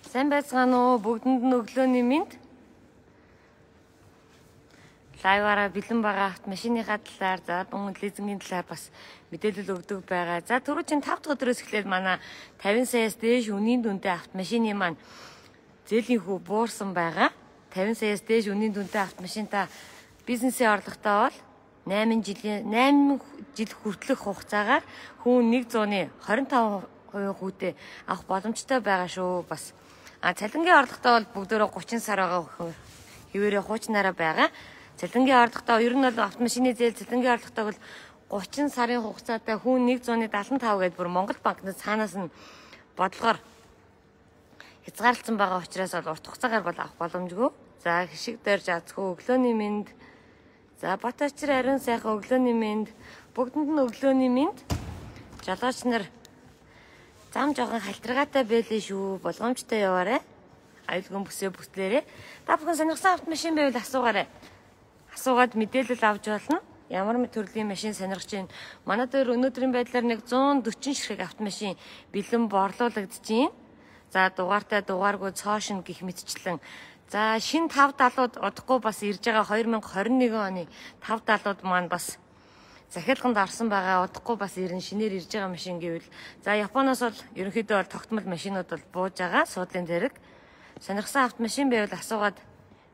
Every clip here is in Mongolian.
Сайн байцгаана уу? Бүгдэнд нь өглөөний мэнд. Лайваараа бэлэн байгаа автомашиныхаа талаар, за дунд лизингийн талаар бас мэдээлэл өгдөг байгаа. За түрүү чинь 5 дахь өдрөөс эхлээд манай 50 саяас дээш үнийн дүнтэй автомашины маань зээлийн хүү буурсан байгаа. 50 саяас дээш үнийн дүнтэй автомашинтаа бизнесийн орлоготой бол 8 жил хүртэлх хугацаагаар хүн 125% хүүтэй авах боломжтой байгаа шүү. Бас цалингийн орлоготой бол бүгдөө 30 сар байгаа хэвээрээ хуучнаараа байгаа. Цалингийн орлоготой ер нь бол автомашины зээл цалингийн орлоготой бол 30 сарын хугацаатай хүн 175 гэдээ бүр Монгол банкнаас цаанаас нь бодлогоор хязгаарлалсан байгаа учраас бол урт хугацаагаар бол авах боломжгүй. За хишиг дээр жаацгүй өглөөний мэнд. За бат очир ариун сайхан өглөөний мэнд. Бүгдэнд нь өглөөний мэнд. Жолооч нар зам жоохон халтаргаатай байлээ шүү. Болгоомжтой яваарай. Аюулгүй бүсээ бүтлээрээ. Та бүхэн сонирхсан автомашин байвал асуугаарай. Асуугаад мэдээлэл авч болно. Ямар төрлийн машин сонирхож байна. Манай дээр өнөөдрийн байдлаар 140 ширхэг автомашин бэлэн борлуулагдаж байна. За дугаартай дугааргүй цоошин гих мэтчлэн. За шинэ 570-ууд удахгүй бас ирж байгаа 2021 оны 570-ууд маань бас захиалганд орсон байгаа. Удахгүй бас ирнэ шинээр ирж байгаа машин гэвэл за Японоос бол ерөнхийдөө бол тогтмол машинууд бол бууж байгаа. Суудлын зэрэг. Сонирхсан автомашин байвал асуугаад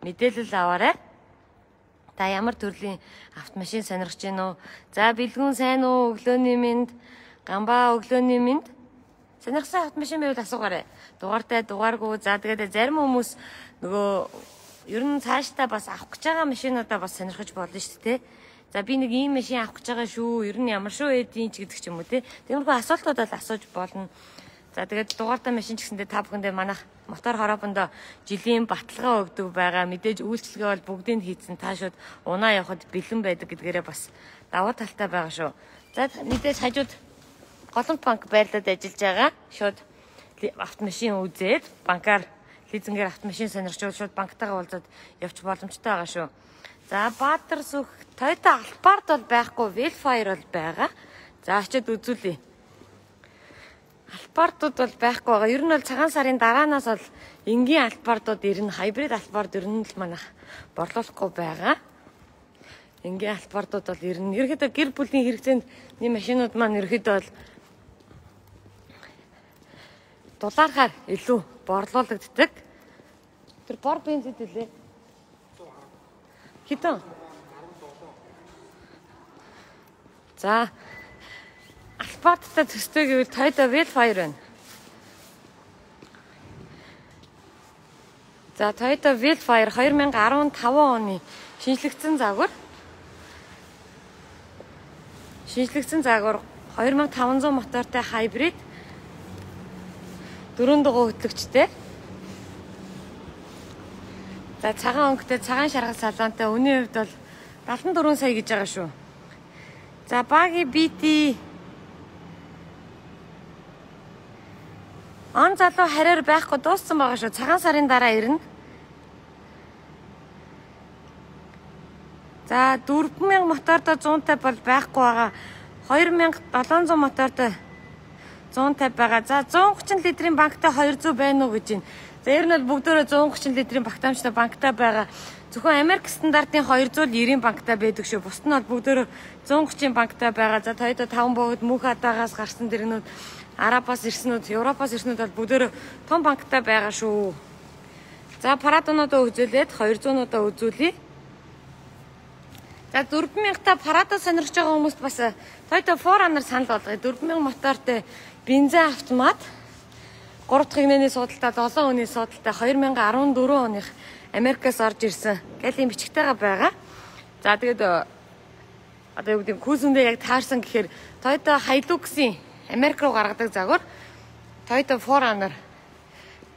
мэдээлэл аваарай. Та ямар төрлийн автомашин сонирхож байна уу? За бэлгүүн сайн уу? Өглөөний мэнд. Гамбаа өглөөний мэнд. Сонирхсан автомашин байвал асуугаарай. Дугаартай дугааргүй. За тэгээд зарим хүмүүс нөгөө ер нь цаашдаа бас авах гэж байгаа машинуудаа бас сонирхож болно шүү дээ. За би нэг ийм машин авах гэж байгаа шүү. Ер нь ямар шүү эдийн ч гэдэг ч юм уу те. Тиймэрхүү асуултууд бол асууж болно. За тэгээд дугаартай машин ч гэсэндээ та бүхэндээ манайх мотор хороопондоо жилийн баталгаа өгдөг байгаа. Мэдээж үйлчлэгээ бол бүгдийг хийцэн та шууд унаа явахад бэлэн байдаг гэдгээрээ бас давуу талтай байгаа шүү. За мэдээж хажууд Голомт банк байрлалд ажиллаж байгаа. Шууд автомашин үзээд банкар лизингээр автомашин сонирхчвал шууд банктайгаа уулзаад явчих боломжтой байгаа шүү. За Баатар сүх Toyota Alphard бол байхгүй, Velfire бол байгаа. За очиод үзүүлье. Alphard-ууд бол байхгүй байгаа. Ер нь бол цагаан сарын дараанаас бол энгийн Alphard-ууд ирнэ. Hybrid Alphard ер нь л манайх борлуулахгүй байгаа. Энгийн Alphard-ууд бол ирнэ. Ерөнхийдөө гэр бүлийн хэрэгцээний машинууд маань ерөнхийдөө бол дулаархаар илүү борлуулагддаг. Тэр бор бензин хэлээ. Хитэн. За Alphard-тай төстэй гэвэл Toyota Velfire байна. За Toyota Velfire 2015 оны шинжлэгдсэн загвар. Шинжлэгдсэн загвар 2500 мотортой hybrid 4 дугуй хөтлөгчтэй. За цагаан өнгөтэй цагаан шаргал салонтой үнийн хувьд бол 74 сая гэж байгаа шүү. За баги BT он залуу харьяар байхгүй дууссан байгаа шүү. Цагаан сарын дараа ирнэ. За 4000 мотортой 150 бол байхгүй байгаа. 2700 мотортой 150 байгаа. За 130 литрийн банктай 200 байна уу гэж байна. За ер нь бол бүгдөө 130 литрийн багтаамжтай банктай байгаа. Зөвхөн Америк стандартын 290-ийн банктай байдаг шүү. Бусд нь бол бүгдөө 130-ийн банктай байгаа. За Toyota 5 богд мөнх хадаагаас гарсан дэрнүүд, Арабаас ирсэнүүд, Европоос ирсэнүүд бол бүгдөө том банктай байгаа шүү. За Paradонуудаа үзүүлээд 200-уудаа үзүүлье. За 4000-та Parado сонирхож байгаа хүмүүст бас Toyota 4Runner санал болгоё. 4000 мотортой бензин автомат 3 дахь хэмнээний суудалтай 7 өний суудалтай 2014 оных Америкаас орж ирсэн галийн бичгтэйгээ байгаа. За тэгээд одоо юу гэдэг күүсэндээ яг таарсан гэхээр Toyota Hilux-ийн Америк руу гаргадаг загвар Toyota 4Runner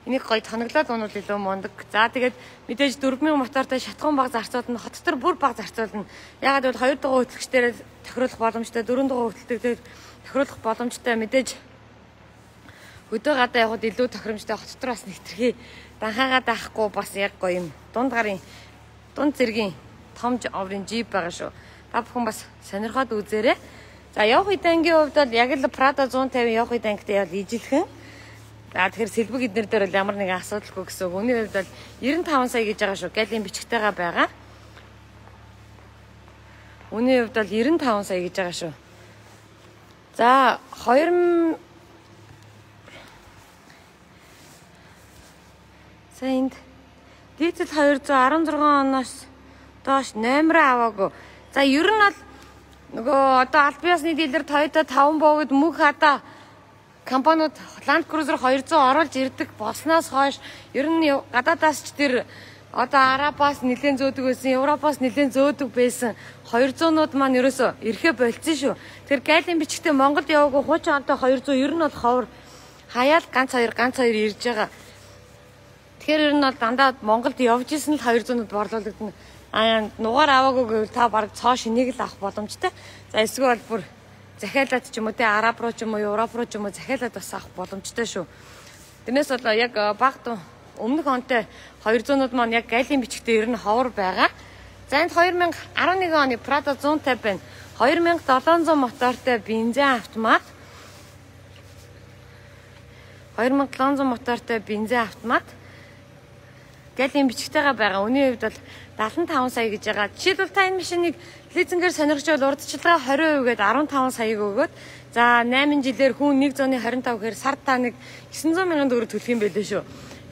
энийг гоё тоноглоод унвал илүү мундаг. За тэгээд мэдээж 4000 мотортой шатхан баг зарцуулна, хот дотор бүр баг зарцуулна. Ягаад гэвэл 2 дугаар хөтлөгчдээр тохируулах боломжтой, 4 дугаар хөтлөлтөөр тохируулах боломжтой. Мэдээж өдөө гадаа явахад илүү тохиромжтой, хот дотор бас нэвтрхий данхаагаа даахгүй бас яг гоё юм. Дунд зэргийн том оврын Jeep байгаа шүү. Та бүхэн бас сонирхоод үзээрэй. За явах үе дангийн хувьд бол яг л Prado 150 явах үе дангтай бол ижилхэн. За тэгэхээр сэлбэг эднэр дээр бол ямар нэгэн асуудалгүй гэсэн үг. Үүний хувьд бол 95 сая гэж байгаа шүү. Галийн бичгтэйгээ байгаа. Үүний хувьд бол 95 сая гэж байгаа шүү. За 2000 саянд дизель 216 оноос доош номероо аваагүй. За ер нь бол нөгөө одоо аль биесны дилер Toyota 5 буугад мөнх хата компаниуд Land Cruiser 200 оруулж ирдэг болсноос хойш ер нь гадаадаас ч тэр одоо Арабаас нэлээд зөөдөг байсан, Европоос нэлээд зөөдөг байсан 200-нууд маань ерөөсө ирэхэ болцсон шүү. Тэр гайлын бичгтээ Монголд яваагүй хуучин онтой 200 ер нь бол ховор хаяал ганц хоёр ирж байгаа. Тэгэхээр ер нь бол дандаа Монголд явж исэн л 200-д борлуулагдана. Нугаар аваагүй гэвэл та баг цоо шинийг л авах боломжтой. За эсвэл бүр захиалаад ч юм уу те Араб руу ч юм уу Европ руу ч юм уу захиалаад бас авах боломжтой шүү. Тэрнээс бол яг багт өмнөх онтой 200-д маань яг гайлын бичгтээ ер нь ховор байгаа. За энд 2011 оны Prado 150 байна. 2700 мотортой бензин автомат. 2700 мотортой бензин автомат. Галийн бичгтэйгээ байгаа. Үүний хувьд бол 75 сая гэж байгаа. Жишээлбэл та энэ машиныг лизингээр сонирхчвал урдчилгаа 20% гээд 15 саяг өгөөд за 8 жилээр хүн 125 гэхээр сард та нэг 900 мянган төгрөг төлөх юм байлээ шүү.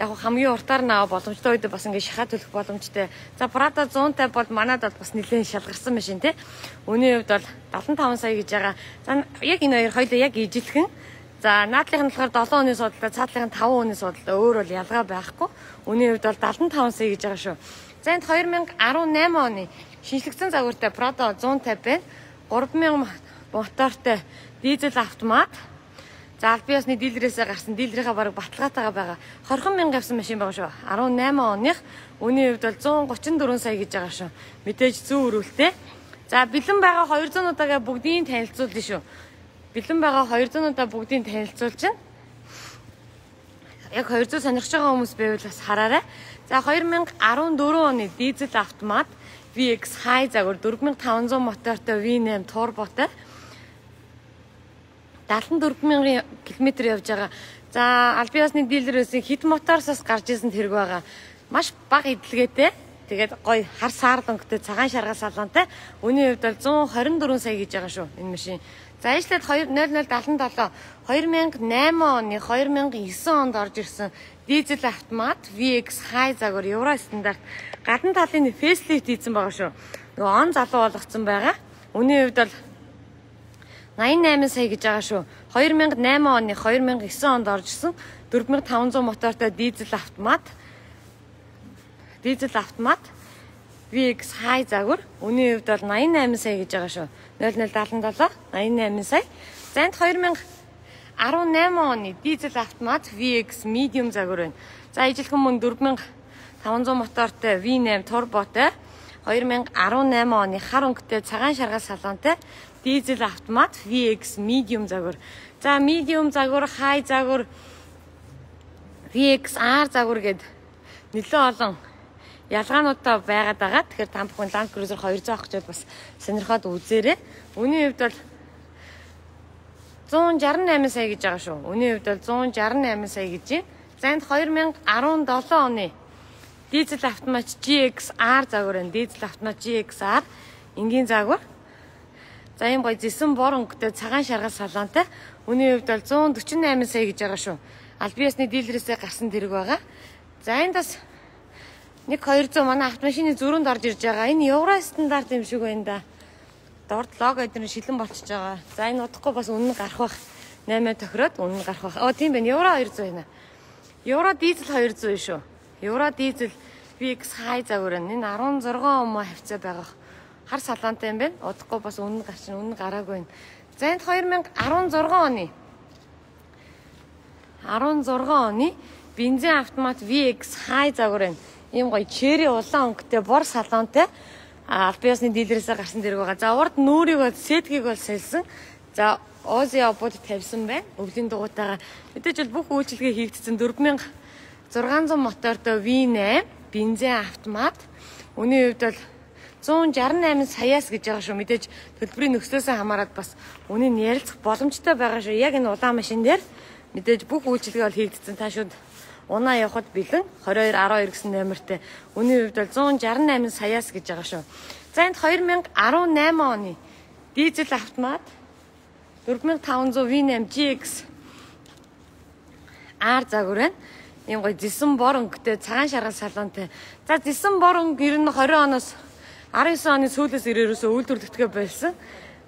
Яг хамгийн уртаар наваа боломжтой үед бас ингэ шахаа төлөх боломжтой. За Prado 150 бол манад бол бас нэлээд шалгарсан машин тий. Үүний хувьд бол 75 сая гэж байгаа. За яг энэ хоёр хоёулаа яг ижилхэн. За наадлынх нь болохоор 7 оны судалтай, цаадлынх нь 5 оны судалтай өөр бол ялгаа байхгүй. Үүний хувьд бол 75 сая гэж байгаа шүү. За энд 2018 оны шинжлэгдсэн загвартай Prado 150 байна. 3000 мотортой дизель автомат. За аль биесны дилерээсээ гарсан дилерийнхаа бараг баталгаатайгаа байгаа. 20 мянга явсан машин байгаа шүү. 18 оных. Үүний хувьд бол 134 сая гэж байгаа шүү. Мэдээж зүүн өрүүлтэй. За бэлэн байгаа 200-уудаагаа бүгдийг танилцуулна шүү. Бэлэн байгаа 200-уудаа бүгдийг танилцуулж байна. Яг 200 сонирхож байгаа хүмүүс байвал бас хараарай. За 2014 оны дизель автомат VX High загвар 4500 мотортой V8 турботой 74,000 км явж байгаа. За аль биесны дилерээс хит моторсоос гарч исэн тэрэг байгаа. Маш бага эдлгээтэй. Тэгээд гоё хар саарлангтай цагаан шаргал салгаантай. Үүний хувьд бол 124 сая гэж байгаа шүү энэ машин. За ажлаад 0077 2008 оны 2009 онд орж ирсэн дизель автомат VX High загвар евро стандарт гадна талын фейслифт хийсэн байгаа шүү. Нөгөө он залуу болгоцсон байгаа. Үүний хувьд бол 88 сая гэж байгаа шүү. 2008 оны 2009 онд орж ирсэн 4500 мотортой дизель автомат VX High загвар. Үүний хувьд бол 88 сая гэж байгаа шүү. 0077 88 сая. За энд 2018 оны дизель автомат VX Medium загвар байна. За ижилхэн мөн 4500 мотортой V8 турботой 2018 оны хар өнгөтэй цагаан шаргал салгаантай дизель автомат VX Medium загвар. За Medium загвар, High загвар, VX R загвар гэд нэлээд олон ялгаануудаа байгаад байгаа. Тэгэхээр та бүхэн Land Cruiser 200 авах гэж бас сонирхоод үзээрэй. Үүний хувьд бол 168 сая гэж байгаа шүү. Үүний хувьд бол 168 сая гэж байна. За энд 2017 оны дизель автомат GXR загвар энэ дизель автомат GXR энгийн загвар. За ийм гоё зэсэн бор өнгөтэй цагаан шаргал салгаантай. Үүний хувьд бол 148 сая гэж байгаа шүү. Аль биесны дилерээсээ гарсан тэрэг байгаа. За энд бас 1-200 манай автомашины зүрхэнд орж ирж байгаа. Энэ евро стандарт юм шиг байна да. Дорд лого эдгээр шилэн болчихж байгаа. За энэ удахгүй бас үнэн гарах бах. 8 тохироод үнэн гарах бах. Тийм байна. Евро 200 байна. Евро дизель 200 шүү. Евро дизель VX High загвар энэ 16 ом хавцаа байгаа. Хар салаантай юм байна. Удахгүй бас үнэн гарчин үнэн гараагүй байна. За энд 2016 оны бензин автомат VX High загвар байна. Ийм гоё черри улаан өнгөтэй бор салаантай аль биесны дилерээсээ гарсан дэрэг байгаа. За урд нүрийг бол сеткийг бол сэлсэн. За Ози обод тавьсан байна. Өвлийн дугуйтайгаа мэдээж бол бүх үйлчилгээ хийгдсэн 4600 мотортой V8 бензин автомат. Үүний хувьд бол 168 саяас гэж байгаа шүү. Мэдээж төлбөрийн нөхцлөөс хамаарат бас үнийн ярилцах боломжтой байгаа шүү. Яг энэ улаан машин дээр Мэдээж бүх үйлчилгээ бол хийгдсэн. Та шууд унаа явахад бэлэн 2212 гэсэн номертэй. Үнийн хувьд бол 168 саяас гэж байгаа шүү. За энд 2018 оны дизель автомат 4500 V8 GX R загвар байна. Ийм гоё зэсэн бор өнгөтэй цагаан шаргал салонтой. За зэсэн бор өнгө 20 оноос 19 оны сүүлээс ирээрөөсөө үйлдвэрлэгдэхээ болсон.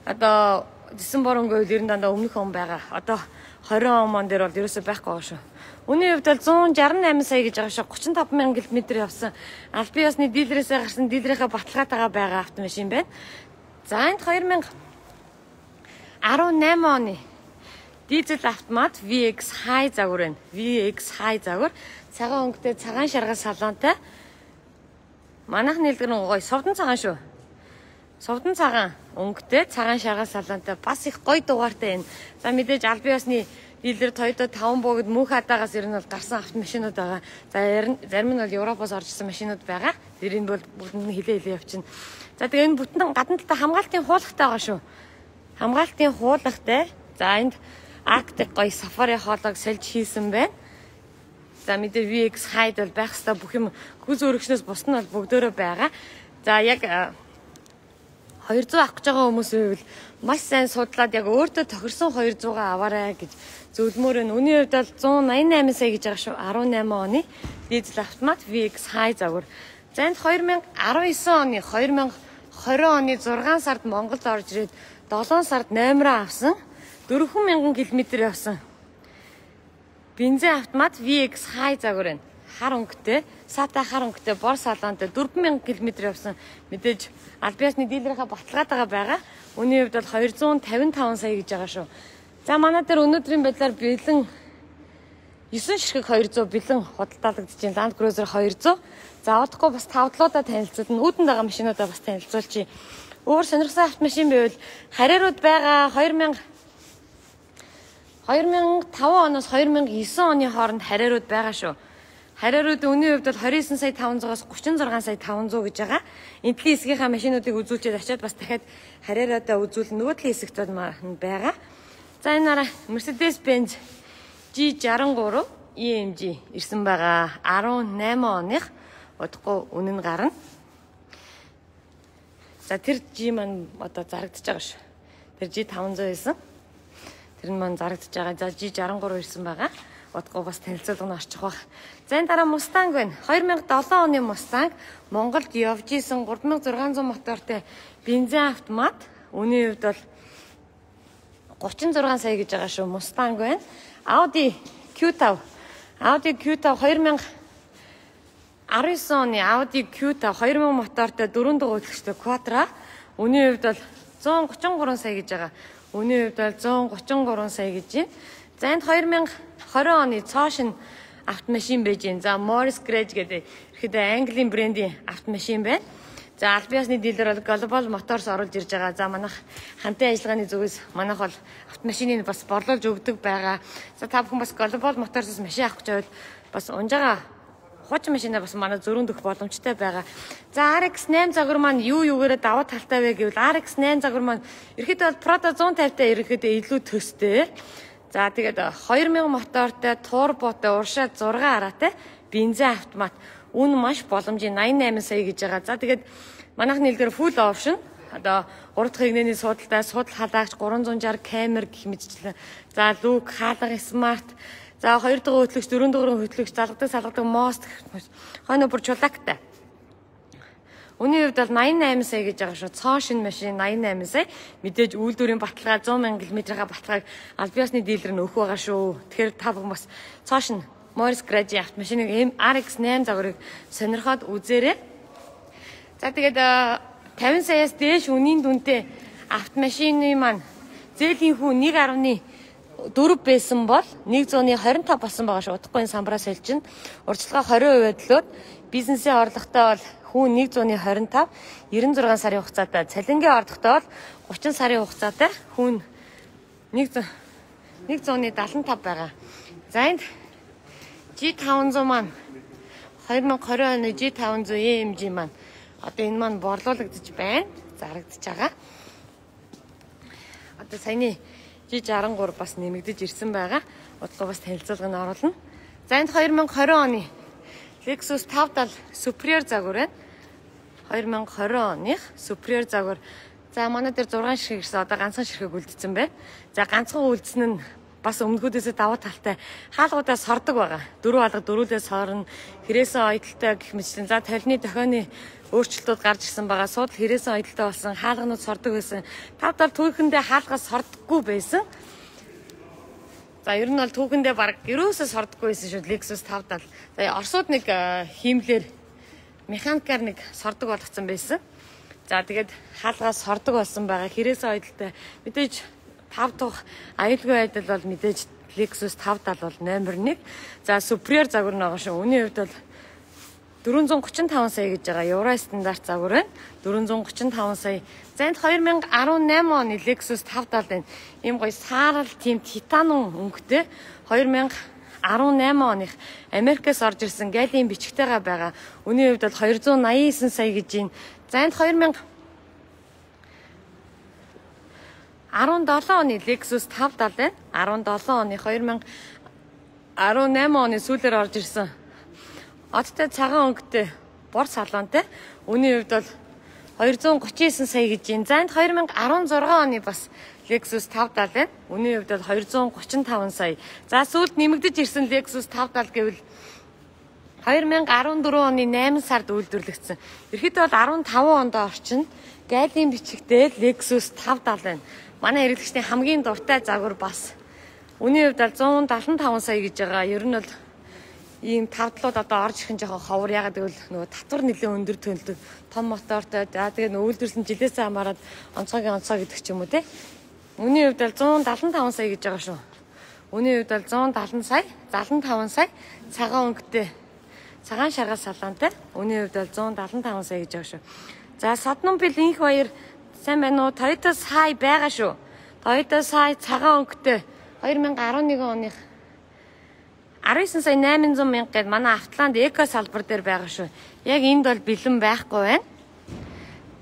Одоо зэсэн бор өнгө үйл ер нь дандаа өмнөх он байгаа. Одоо 20 он дээр бол ерөөсөө байхгүй байгаа шүү. Үнийн хувьд бол 168 сая гэж байгаа шүү. 35,000 км явсан. Аль бие усны дилерээсээ гарсан дилерийнхаа баталгаатайгаа байгаа автомашин байна. За энд 2018 оны дизель автомат VX High загвар байна. VX High загвар цагаан өнгөтэй цагаан шаргал салонтой. Манайх нэлгэр нь гоё совдон цагаан шүү. Совдон цагаан өнгөтэй цагаан шаргал салонтой бас их гоё дугаартай байна. За мэдээж аль бие усны дилер Toyota 5 богд мөнх хадаагаас ер нь бол гарсан автомашинууд байгаа. За зарим нь бол Европоос орж ирсэн машинууд байгаа. Тэрийг бол бүгдэнд нь хилээ явчихна. За тэгээ энэ бүтэн гадна талаа хамгаалтын хуулагтай байгаа шүү. Хамгаалтын хуулагтай. За энд Arctic гоё сафари хоолойг сольж хийсэн байна. За мэдээ VX High бол байх хэвээр бүх юм хүз өргөчнөөс бус нь бол бүгдөө байгаа. За яг 200 авах гэж байгаа хүмүүс байвал маш сайн судлаад яг өөртөө тохирсон 200-аа аваарай гэж зөвлөмөр нь. Үүний хувьд бол 188 сая гэж байгаа шүү. 18 оны дизель автомат VX High загвар. За энд 2019 оны 2020 оны 6 сард Монголд орж ирээд 7 сард номероо авсан. 4,000 км явсан. Бензин автомат VX High загвар байна. Хар өнгөтэй, сата хар өнгөтэй, бор салонтой 4,000 км явсан. Мэдээж аль биесны дилерийнхаа баталгаатайгаа байгаа. Үүний хувьд бол 255 сая гэж байгаа шүү. За манай дээр өнөөдрийн байдлаар бэлэн 9 ширхэг 200 бэлэн худалдаалагдаж байна. Land Cruiser 200. За удахгүй бас тавдлуудаа танилцуулна. Үүдэнд байгаа машинуудаа бас танилцуулчих. Өөр сонирхсан автомашин байвал харьяарууд байгаа 2005 оноос 2009 оны хооронд харьяарууд байгаа шүү. Харьяарууд үнийн хувьд бол 29 сая 500-аас 36 сая 500 гэж байгаа. Энтлийн хэсгийнхаа машинуудыг үзүүлчихэд очиад бас дахиад харьяараадаа үзүүлнэ. Нөгөө талын хэсэгт байгаа. За энэ нараа Mercedes-Benz G63 EMG ирсэн байгаа. 18 оных удахгүй үнэн гарна. За тэр G маань одоо зарагдаж байгаа шүү. Тэр G500 байсан. Тэр нь маань зарагдаж байгаа. За G63 ирсэн байгаа. Удахгүй бас танилцуулга нь орчих баг. За энэ дараа Mustang байна. 2007 оны Mustang Монголд явж исэн 3600 мотортой бензин автомат. Үүний хувьд бол 36 сая гэж байгаа шүү. Mustang байна. Audi Q5. Audi Q5 2019 оны Audi Q5 2000 мотортой 4 дугаар хөтлөгчтэй Quattro. Үүний хувьд бол 133 сая гэж байгаа. Үүний хувьд бол 133 сая гэж байна. За энд 2020 оны цоошин автомашин байж байна. За Morris Grange гэдэг ихэд Английн брендийн автомашин байна. За аль биесны дилер бол Global Motors оруулж ирж байгаа. За манайх хамтын ажиллагааны зүгээс манайх бол автомашиныг бас борлуулж өгдөг байгаа. За та бүхэн бас Global Motors-с машин авах гэж байвал бас унжаага хуучин машинаа бас манай зөрүүнд өгөх боломжтой байгаа. За RX8 загвар маань юугаараа даваа талтай вэ гэвэл RX8 загвар маань ерөөхдөө бол Prado 150-тай ерөөхдөө илүү төстэй. За тэгээд 2000 мотортой, турботой, уршаа 6 араатай бензин автомат. Үн маш боломжийн 88 сая гэж байгаа. За тэгээд манайх нэлгээр full option. Одоо 3 дахь игнэний суудалтай, судал халаагч 360 камер гэх мэтчлэн. За люк, хаалга, смарт. За 2 дугаар хөтлөгч, 4 дугаар хөтлөгч, залгадаг мост хойно бүр чулаактай. Үүний хувьд бол 88 сая гэж байгаа шүү. Цоошин машин 88 сая. Мэдээж үйлдвэрийн баталгаа 100,000 км-ийн баталгааг аль биесны дилер нь өгөх байгаа шүү. Тэгэхээр та бүхэн бас цоошин Morris Grange автомашиныг RX8 загварыг сонирхоод үзээрэй. За тэгээд 50 саяас дээш үнийн дүнтэй автомашины маань зээлийн хүү 1.4 байсан бол 125 болсон байгаа шүү. Удахгүй энэ самбараа солилж. Урьдчилгаа 20% төлөөд бизнесийн орлоготой бол хүн 125 96 сарын хугацаатай, цалингийн орлоготой бол 30 сарын хугацаатай хүн 175 байгаа. За энд G500 маань 2020 оны G500 EMG маань одоо энэ маань борлуулагдаж байна. Зарагдаж байгаа. Одоо саяны G63 бас нэмэгдэж ирсэн байгаа. удалгүй бас танилцуулганд оруулна. За энд 2020 оны Lexus 570 Superior загвар байна. 2020 оных Superior загвар. За манай дээр 6 ширхэг ирсэн. Одоо ганцхан ширхэг үлдсэн байна. За ганцхан үлдсэн нь бас өмнөхөөдөөсөө давуу талтай хаалгуудаас сордог байгаа. 4 алга дөрүүлээс сорно. Хэрээсэн ойдолтой гэх мэтлэн. За толны дохионы өөрчлөлтүүд гарч ирсэн байгаа. Суудл хэрээсэн ойдолтой болсон. Хаалганууд сордог байсан. 570 түүхэндээ хаалгаас сордоггүй байсан. За ер нь бол түүхэндээ баг ерөөсөө сордоггүй байсан шүү Lexus 570. За Оросууд нэг хиймлэр механикаар нэг сордог болгоцсон байсан. За тэгээд хаалгаас сордог болсон байгаа. Хэрээсэн ойдолтой мэдээж 5 дахь аюулгүй байдал бол мэдээж Lexus 570 бол номер 1. За Superior загвар нь байгаа шүү. Үүний хувьд бол 435 сая гэж байгаа. Евро стандарт загвар байна. 435 сая. За энд 2018 оны Lexus 570 байна. Ийм гоё саарал тийм титанум өнгөтэй 2018 оных Америкээс орж ирсэн галийн бичгтэйгээ байгаа. Үүний хувьд бол 289 сая гэж байна. За энд 2017 оны Lexus 570 байна. 17 оны 2018 оны сүүлээр орж ирсэн. Одтой цагаан өнгөтэй бор салонтой. Үүний хувьд бол 239 сая гэж байна. За энд 2016 оны бас Lexus 570 байна. Үүний хувьд бол 235 сая. За сүүлд нэмэгдэж ирсэн Lexus 570 гэвэл 2014 оны 8 сард үйлдвэрлэгдсэн. Ерөнхийдөө бол 15 онд орчин гайлийн бичигтэй Lexus 570 байна. Манай хэрэглэгчдийн хамгийн дуртай загвар бас. Үүний хувьд бол 175 сая гэж байгаа. Ер нь бол ийм тавдлууд одоо орж ирэх нь жоохон ховор. Ягаад гэвэл нөгөө татвар нэлээд өндөр төлдөг. Том мотортой. За тэгээд үйлдвэрлэсэн жилээсээ хамаарат онцгой гэдэг ч юм уу те. Үүний хувьд бол 175 сая гэж байгаа шүү. Үүний хувьд бол 170 сая, 75 сая цагаан өнгөтэй. Цагаан шаргал салонтой. Үүний хувьд бол 175 сая гэж байгаа шүү. За Содном бил инх баяр сайн байна уу? Toyota Sai байгаа шүү. Toyota Sai цагаан өнгөтэй 2011 оных 19 сая 800 мянга гээд манай Автланд эко салбар дээр байгаа шүү. Яг энд бол бэлэн байхгүй байна.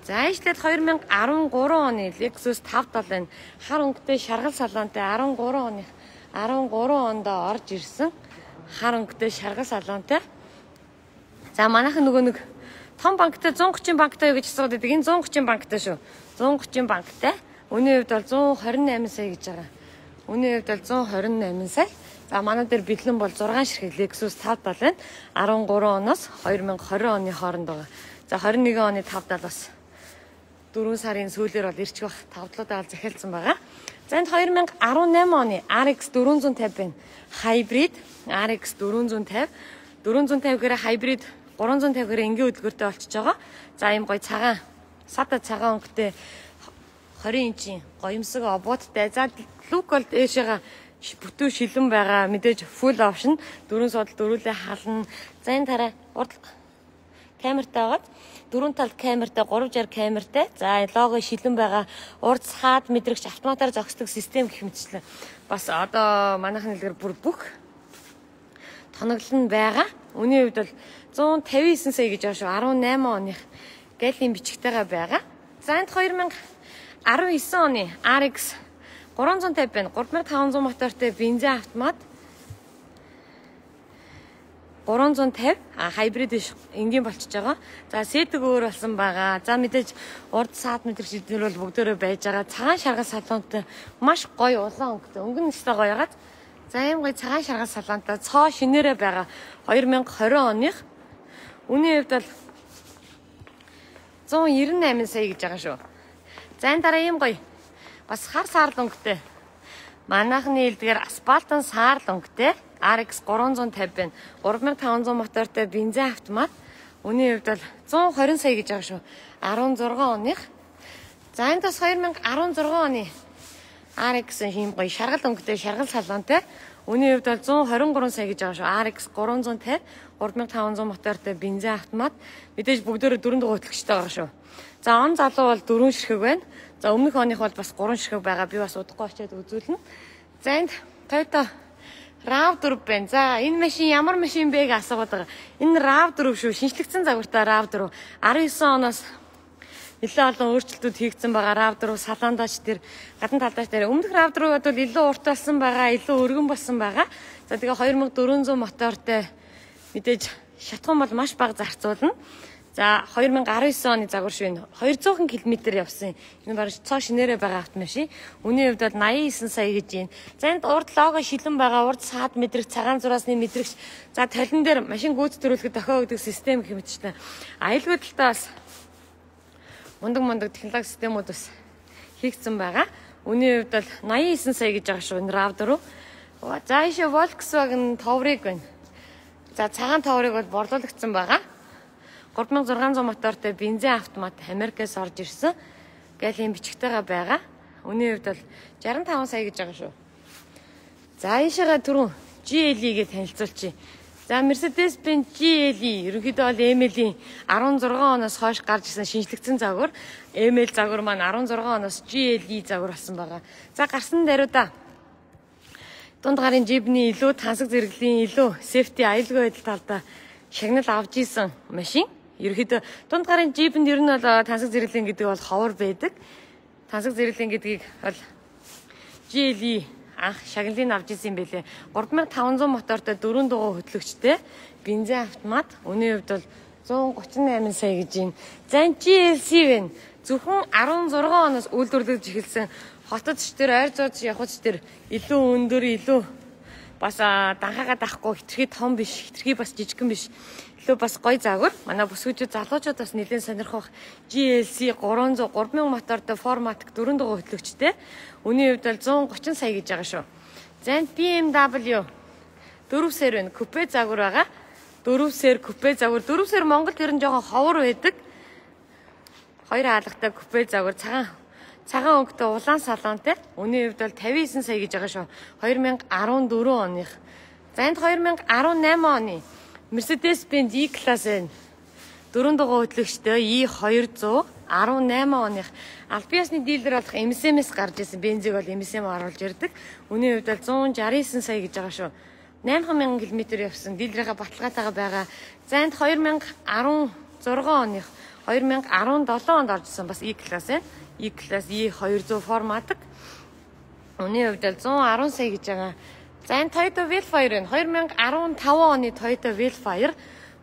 За ижлээд 2013 оны Lexus 570 байна. Хар өнгөтэй шаргал салонтой 13 оных 13 онд орж ирсэн. Хар өнгөтэй шаргал салонтой. За манайхан нөгөө нэг том банктай 130 банктай юу гэж асуудаг. Энэ 130 банктай шүү. 130 банктай. Үүний хувьд бол 128 сая гэж байгаа. Үүний хувьд бол 128 сая. За манай дээр бэлэн бол 6 ширхэг Lexus 570 байна. 13 оноос 2020 оны хооронд байгаа. За 21 оны 570 бас 4 сарын сүүлээр бол ирчих бах тавдлуудаа захиалсан байгаа. За энд 2018 оны RX 450 байна. Hybrid RX 450. 450 гэрэ hybrid 350 гэрэ энгийн хөдөлгөөртэй болчихж байгаа. За ийм гоё цагаан сата цагаан өнгөтэй 20 инчийн гоёмсог обуудтай. За лук бол ээшээгээ бүтэн шилэн байгаа. Мэдээж full option 4 судал дөрүүлээ хална. За энэ тарай урд камертай байгаад 4 тал камертай 360 камертай. За лого шилэн байгаа. Урд саад мэдрэгч автоматар зогсдог систем гэх мэтчлэн бас одоо манайхны хэлээр бүр бүх тоноглол нь байгаа. Үүний хувьд бол 159 сая гэж байгаа шүү. 18 оных галийн бичгтэйгээ байгаа. За энд 2019 оны RX 350 байна. 3500 мотортой бензин автомат 350 хайбрид энгийн болчихж байгаа. За сэтг өөр болсон байгаа. За мэдээж урд саад мэдрэгч эдгээр бол бүгдээрээ байж байгаа. Цагаан шаргал салонтой маш гоё улаан өнгөтэй. Өнгө нь өстой гоё ягаад. За ийм гоё цагаан шаргал салонтой цоо шинээрээ байгаа. 2020 оных. Үүний хувьд бол 198 сая гэж байгаа шүү. За энэ дараа ийм гоё бас хар саарл өнгөтэй. Манайхны хэлдгээр асфальтын саарл өнгөтэй RX 350 байна. 3500 мотортой бензин автомат. Үүний хувьд бол 120 сая гэж байгаа шүү. 16 оных. За энэ бас 2016 оны RX ийм гоё шаргал өнгөтэй шаргал салонтой. Үүний хувьд бол 123 сая гэж байгаа шүү. RX 350 3500 мотортой бензин автомат. Мэдээж бүгдөө 4 дугаар хөтлөгчтэй байгаа шүү. За он залуу бол 4 ширхэг байна. За өмнөх оных бол бас 3 ширхэг байгаа. Би бас удахгүй очиад үзүүлнэ. За энд Toyota RAV4 байна. За энэ машин ямар машин бэ гэж асуугаад байгаа. Энэ RAV4 шүү. Шинжлэгдсэн загвартай RAV4. 19 оноос нэлээд олон өөрчлөлтүүд хийгдсэн байгаа. RAV4 салондаач тэр гадна талдаач тэр өмнөх RAV4-ууд бол илүү урт болсон байгаа, илүү өргөн болсон байгаа. За тэгээ 2400 мотортой мэдээж шатхан бол маш бага зарцуулна. За 2019 оны загвар шивэн 200 км явсан. Энэ баг цоо шинээрээ байгаа автомашин. Үнийн хувьд бол 89 сая гэж байна. За энд урд лого шилэн байгаа, урд саад мэдрэх, цагаан зураасны мэдрэгч. За талин дээр машин гүйцэтгүүлэхэд дохио гэдэг систем гэх мэтчтэй. Аюулгүй талдаа бас мундаг технологи системүүд бас хийгдсэн байгаа. Үнийн хувьд бол 89 сая гэж байгаа шүү энэ RAV4. За ийшээ Volkswagen Touareg байна. За цагаан Touareg бол борлуулагдсан байгаа. 3600 мотортой бензин автомат Америкээс орж ирсэн. Галийн бичгтэйгээ байгаа. Үнийн хувьд бол 65 сая гэж байгаа шүү. За ийшээгээ түрүүн GLE гэж танилцуулчих. За Mercedes-Benz GLE ерөнхийдөө бол ML-ийн 16 оноос хойш гарч ирсэн шинжлэгдсэн загвар. ML загвар маань 16 оноос GLE загвар болсон байгаа. За гарсан даруйда дунд гарын жибний илүү тансаг зэрэглэлийн илүү safety аюулгүй байдал талдаа шагнал авч исэн машин. Ерөнхийдөө дунд гарын жибэнд ер нь бол тансаг зэрэглэн гэдэг бол ховор байдаг. Тансаг зэрэглэн гэдгийг бол GLE анх шагналыг авч ирсэн юм байлээ. 3500 мотортой 4 дугуй хөтлөгчтэй бензин автомат. Үнийн хувьд бол 138 сая гэж байна. За энэ GLC байна. Зөвхөн 16 оноос үйлдвэрлэж эхэлсэн хотод ч тэр ойр зууц явхад ч тэр илүү өндөр илүү бас данхаагаа дахгүй хитрхи том биш, хитрхи бас жижигхэн биш. Илүү бас гоё загвар. Манай бүсгүйчүүд залуучууд бас нэлээд сонирхох GLC 300 3000 мотортой форматик 4 дугуй хөтлөгчтэй. Үнийн хувьд бол 130 сая гэж байгаа шүү. За BMW 4 сер байна. Купе загвар байгаа. 4 сер купе загвар. 4 сер Монголд ер нь жоохон ховор байдаг. Хоёр хаалгатай купе загвар цагаан өнгөтэй улаан салонтэй. Үнийн хувьд бол 59 сая гэж байгаа шүү. 2014 оных. За энд 2018 оны Mercedes-Benz E-Class байна. 4 дугуй хөтлөгчтэй E200 18 оных албан ёсны дилер болох MSM-с гарч ирсэн. Бензиг бол MSM оруулж ирдэг. Үнийн хувьд бол 169 сая гэж байгаа шүү. 8000 км явсан. Дилерийнхаа баталгаатайгаа байгаа. За энд 2016 оных 2017 онд орж ирсэн бас E-Class байна. E-Class E200 форматик. Үнийн хувьд бол 110 сая гэж байгаа. За энэ Toyota Velfire байна. 2015 оны Toyota Velfire.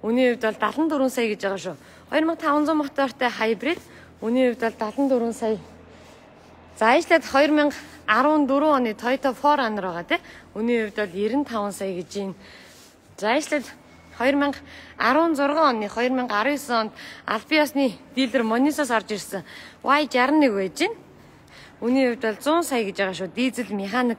Үнийн хувьд бол 74 сая гэж байгаа шүү. 2500 мотортой хайбрид. Үнийн хувьд бол 74 сая. За ижлээд 2014 оны Toyota 4Runner байгаа тийм. Үнийн хувьд бол 95 сая гэж байна. За ижлээд 2016 оны 2019 онд албан ёсны дилер Monissos орж ирсэн. Y61 байж байна. Үнийн хувьд бол 100 сая гэж байгаа шүү. Дизель механик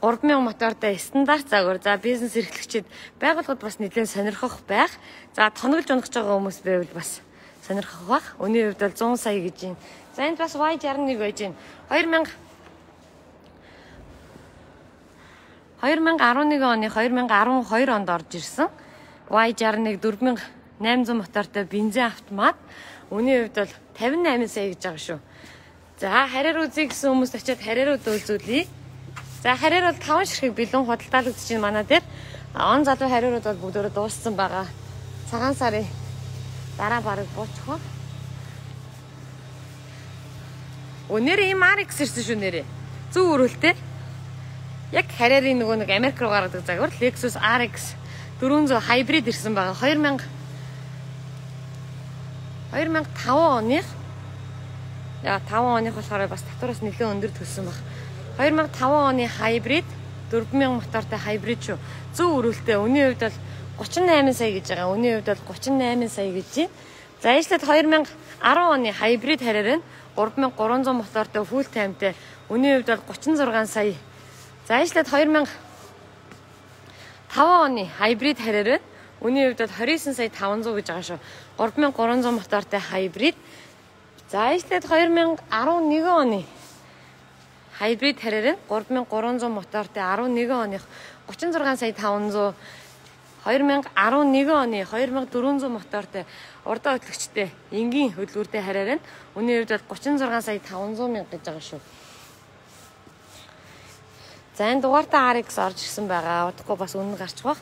3000 мотортой стандарт загвар. За бизнес эрхлэгчид байгууллагад бас нэлээд сонирхох байх. За тоногж унах байгаа хүмүүс байвал бас сонирхох байх. Үнийн хувьд бол 100 сая гэж байна. За энд бас Y61 байж байна. 2011 оны 2012 онд орж ирсэн. Y61 4800 мотортой бензин автомат. Үнийн хувьд бол 58 сая гэж байгаа шүү. За харьяар үзье гэсэн хүмүүс очиад харьяарууд үзүүлье. За харьяар бол 5 ширхэг бэлэн худалдаалагдаж байна манай дээр. Он залуу харьяарууд бол бүгдөө дууссан байгаа. Цагаан сарын дараа бараг буучих. Өнөр ийм RX ирсэн шүү нэрээ. Зөв өрөөлтэй. Яг харьяарын нөгөө нэг Америк руу гаргадаг загвар Lexus RX 400 hybrid ирсэн байгаа. 2005 оных. Яа 5 оных болохоор бас татвараас нэлээд өндөр төлсөн баг. 2005 оны hybrid 4000 мотортой hybrid шүү. Зөв өрөөлтэй. Үнийн хувьд бол 38 сая гэж байгаа. Үнийн хувьд бол 38 сая гэж байна. За ижлээд 2010 оны hybrid харьяар нь 3300 мотортой full timeтай. Үнийн хувьд бол 36 сая. За ижлээд 2005 оны hybrid харьяар нь үнийн хувьд бол 29 сая 500 гэж байгаа шүү. 3300 мотортой hybrid. За ижлээд 2011 оны hybrid харьяар нь 3300 мотортой 11 оных 36 сая 500. 2011 оны 2400 мотортой урдаа хөтлөгчтэй энгийн хөдөлгүүртэй харьяар нь үнийн хувьд бол 36 сая 500 мянга гэж байгаа шүү. За энэ дугаартаа RX орж ирсэн байгаа. Удахгүй бас үнэн гарчих бах.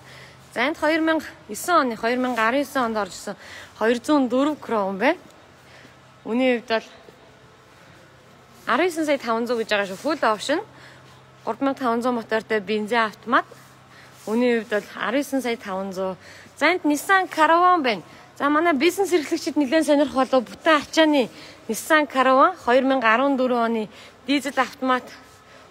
За энд 2009 оны 2019 онд орж ирсэн 204 кром байна. Үний хувьд бол 19 сая 500 гэж байгаа шүү. Full option 3500 мотортой бензин автомат. Үний хувьд бол 19 сая 500. За энд Nissan Caravan байна. За манай бизнес эрхлэгчид нэлээд сонирх болов бүтэн ачааны Nissan Caravan 2014 оны дизель автомат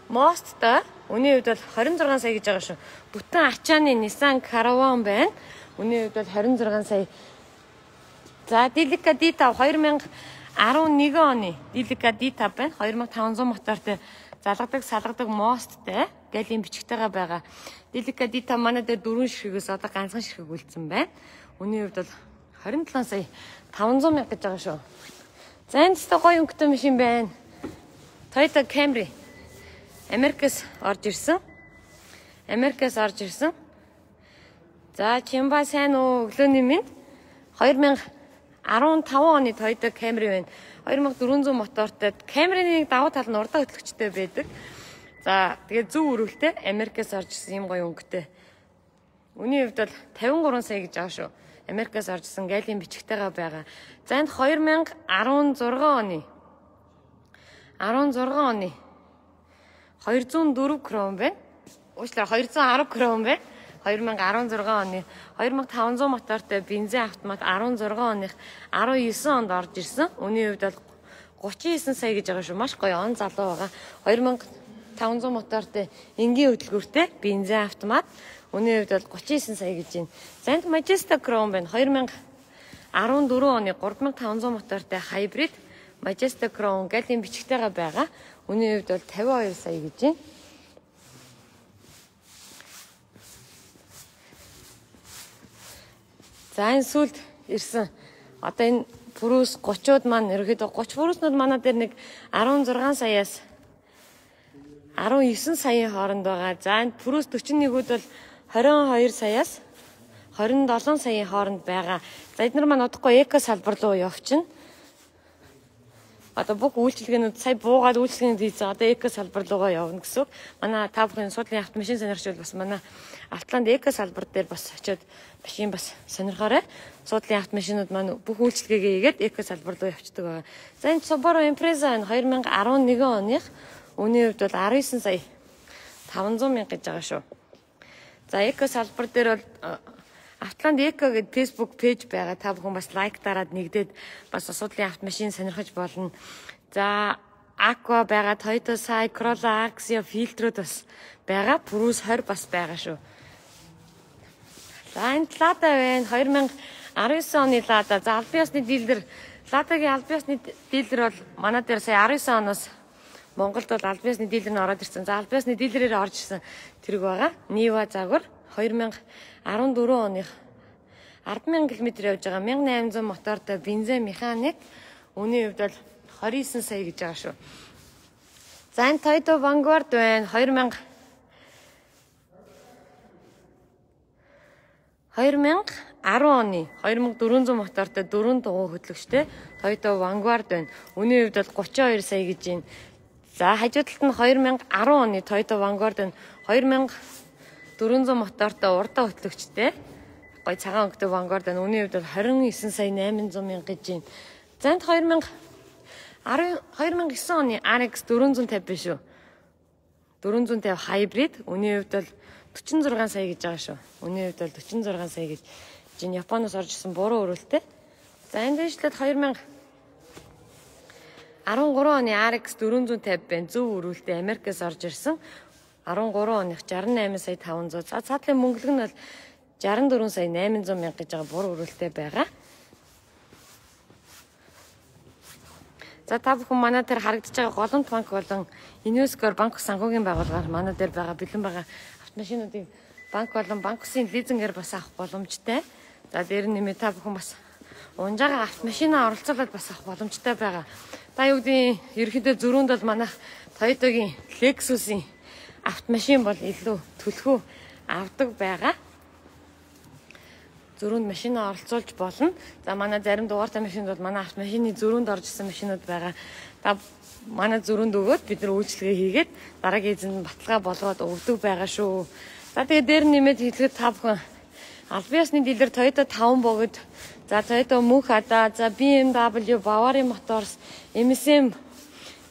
мосттой. Үний хувьд бол 26 сая гэж байгаа шүү. Бүтэн ачааны Nissan Caravan байна. Үний хувьд бол 26 сая. За Delica D5 2011 оны Delica D5 байна. 2500 мотортой залгадаг мосттой галийн бичгтэйгээ байгаа. Delica D5 манай дээр 4 ширхэгээс одоо ганцхан ширхэг үлдсэн байна. Үний хувьд бол 27 сая 500 мянга гэж байгаа шүү. За энэ ч гоё өнгөтэй машин байна. Toyota Camry. Америкээс орж ирсэн. За чимба сайн уу өглөөний минь 2015 оны Toyota Camry байна. 2400 мотортой. Camry-ний давуу тал нь урдаа хөтлөгчтэй байдаг. За тэгээд зөв өрөвлөлтэй Америкээс орж ирсэн юм гоё өнгөтэй. Үний хувьд бол 53 сая гэж байгаа шүү. Америкээс орж ирсэн галийн бичгтэйгээ байгаа. За энд 2016 оны 204 крон байна. Уучлаарай 210 крон байна. 2016 оны 2500 мотортой бензин автомат 16 оных 19 онд орж ирсэн. Үний хувьд бол 39 сая гэж байгаа шүү. Маш гоё он залуу байгаа. 2500 мотортой энгийн хөдөлгөөртэй бензин автомат. Үний хувьд бол 39 сая гэж байна. Занд Majesta Crown байна. 2014 оны 3500 мотортой хайбрид Majesta Crown галийн бичгтэйгээ байгаа. Үний хувьд бол 52 сая гэж байна. За энэ сүлд ирсэн. Одоо энэ Purus 30-ууд маань ерөөхдөө 30 Purus-нууд манай дээр нэг 16 саяас 19 саяын хооронд байгаа. За энэ Purus 41-үүд бол 22 саяас 27 саяын хооронд байгаа. За эдгээр маань удахгүй эко салбар руу явчихна. Одоо бүх үйлчилгээнүүд сая буугаад үйлчилгээнд хийсэн. Одоо эко салбар руугаа явна гэсэн. Манай та бүхэн суудлын автомашин сонирхч бол бас манай Автланд эко салбар дээр бас очиод машин бас сонирхоорой. Суудлын автомашинууд маань бүх үйлчилгээгээ хийгээд эко салбар руу явчихдаг байгаа. За энэ Subaru Impreza 2011 оных үний хувьд бол 19 сая 500 мянга гэж байгаа шүү. За эко салбар дээр бол Автланд эко гэдэг Facebook пэйж байгаа. Та бүхэн бас лайк дараад нэгдээд бас асуудлын автомашин сонирхож болно. За Aqua байгаа, Toyota Sai, Corolla, Axia фильтрүүд бас байгаа. Purus 20 бас байгаа шүү. За энэ Lada байна. 2019 оны Lada. За албан ёсны дилер. Lada-гийн албан ёсны дилер бол манай дээр сая 19 оноос Монголд бол албан ёсны дилер нь ороод ирсэн. За албан ёсны дилерээр орж ирсэн тэрэг байгаа. Niva загвар 2014 оных 10,000 км явж байгаа 1800 мотортой бензин механик. Үний хувьд бол 29 сая гэж байгаа шүү. За энэ Toyota Vanguard байна. 2010 оны 2400 мотортой 4 дугуй хөтлөгчтэй Toyota Vanguard байна. Үний хувьд бол 32 сая гэж байна. За хажуу талд нь 2010 оны Toyota Vanguard байна. 2400 мотортой урдаа хөтлөгчтэй гоё цагаан өнгөтэй Vanguard байна. Үүний хувьд бол 29 сая 800 мянга гэж байна. За энд 2009 оны RX 450 биш үү? 450 hybrid. Үүний хувьд бол 46 сая гэж байгаа шүү. Үүний хувьд бол 46 сая гэж чинь Японоос орж ирсэн буруу өрөөлтэй. За энэ дэвшлээд 2013 оны RX 450 байна. Зөв өрөөлтэй Америкээс орж ирсэн. 13 оных 68 сая 500. За цаатлын мөнгөлөг нь бол 64 сая 800 мянга гэж байгаа буруу өрөөлтэй байгаа. За та бүхэн манай дээр харагдаж байгаа голомт банк болон Инвескор банк санхүүгийн байгууллагаар манай дээр байгаа бэлэн байгаа автомашинуудыг банк болон банк усын лизингээр бас авах боломжтой. За дээр нэмээ та бүхэн бас унжаага автомашинаа оролцуулаад бас авах боломжтой байгаа. Та юу гэдэг ерөнхийдөө зөрүүнд бол манай Toyota-гийн Lexus-ийн автомашин бол илүү төлхөө авдаг байгаа. Зөрүүнд машинаа оролцуулж болно. За манай зарим дугаартай машинд бол манай автомашины зөрүүнд орж исэн машинууд байгаа. Та манай зөрүүнд өгөөд бид нар үйлчилгээ хийгээд дараагийн эзэнд баталгаа болгоод өгдөг байгаа шүү. За тэгээд дээр нэмээд хэлэхэд та бүхэн албан ёсны дилер Toyota 5 богод За Toyota Mukata, за BMW, Bavarian Motors, MSM,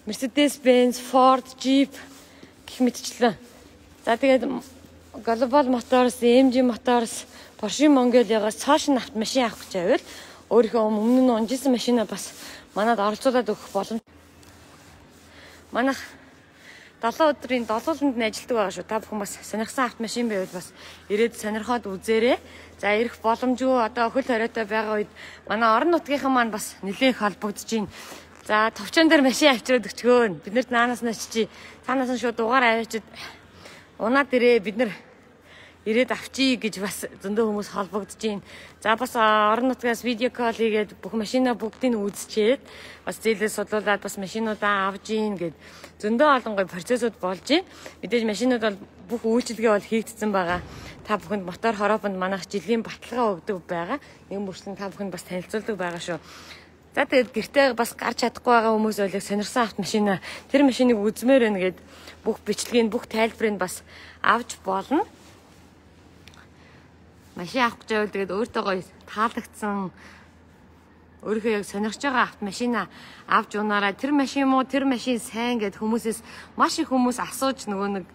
Mercedes-Benz, Ford, Jeep гэх мэтчлэн. За тэгээд Global Motors, MG Motors, Porsche Mongolia-гаас цааш нь автомашин авах гэж байвал өөрийнхөө өмнө нь унжсэн машинаа бас манад оролцуулаад өгөх боломж. Манайх 7 өдрийн долууланд нь ажилладаг байгаа шүү. Та бүхэн бас сонирхсан автомашин байвал бас ирээд сонирхоод үзээрэй. За ирэх боломжгүй одоо хөл хориотой байгаа үед манай орон нутгийнхан маань бас нэлээд холбогдож байна. За товчон дээр машин авчираад өчгөөн. Бид нарт наанаас нь очиж танаас нь шууд дугаар авчид унаад ирээ бид нар ирээд авчий гэж бас зөндөө хүмүүс холбогдож байна. За бас орон нутгаас видео колл хийгээд бүх машинаа бүгдийг нь үзчихэд бас зээлээс судлуулад бас машинуудаа авж ийн гэд зөндөө олон гоё процессууд болж байна. Мэдээж машинууд бол бүх үйлчилгээ бол хийгдсэн байгаа. Та бүхэнд мотор хороопонд манайх жилийн баталгаа өгдөг байгаа. Нэгэн бүрчлэн та бүхэнд бас танилцуулдаг байгаа шүү. За тэгээд гэртээ бас гарч чадахгүй байгаа хүмүүс ойлог сонирсан автомашинаа тэр машиныг үзмээр байна гэд бүх бичлэгийг бүх тайлбарыг бас авч болно. Машин авах гэж байвал тэгээд өөртөө гоё таалагдсан өөрийнхөө яг сонирхож байгаа автомашинаа авч унаарай. Тэр машин муу, тэр машин сайн гэд хүмүүсээс маш их хүмүүс асууж нөгөө нэг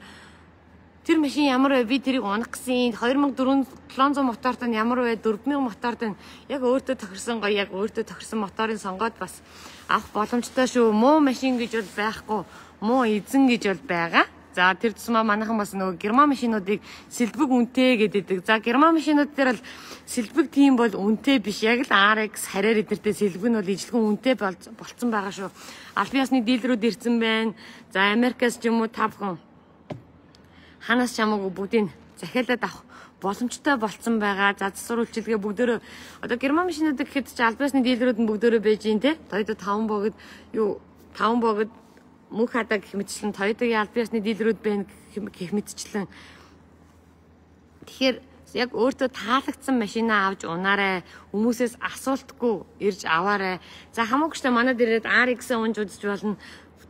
тэр машин ямар вэ? Би тэрийг унах гэсэн. 2700 моторт нь ямар вэ? 4000 моторт нь яг өөртөө тохирсон гоё яг өөртөө тохирсон моторын сонгоод бас авах боломжтой шүү. Муу машин гэж бол байхгүй, муу эзэн гэж бол байгаа. За тэр тусмаа манайхан бас нөгөө герман машинуудыг сэлбэг үнэтэй гэдэг. За герман машинууд дээр бол сэлбэг тийм бол үнэтэй биш. Яг л RX харьяар эдэртэй сэлбэг нь бол ижлэгэн үнэтэй болцсон байгаа шүү. Албан ёсны дийлрүүд ирсэн байна. За Америкаас ч юм уу та бүхэн ханаас ч хамаагүй бүгдийг захиалаад авах боломжтой болцсон байгаа. За засвар үйлчилгээ бүгдөө одоо герман машинууд гэхэд ч албан ёсны дийлрүүд нь бүгдөө байж гин те. Toyota 5 богд юу 5 богд Mukata гэх мэтчлэн Toyota-гийн албан ёсны дийлрүүд байна гэх мэтчлэн. Тэгэхээр яг өөртөө таалагдсан машинаа авч унаарай. Хүмүүсээс асуултгүй ирж аваарай. За хамаагчтай манад ирээд RX-аа унж үзэж болно.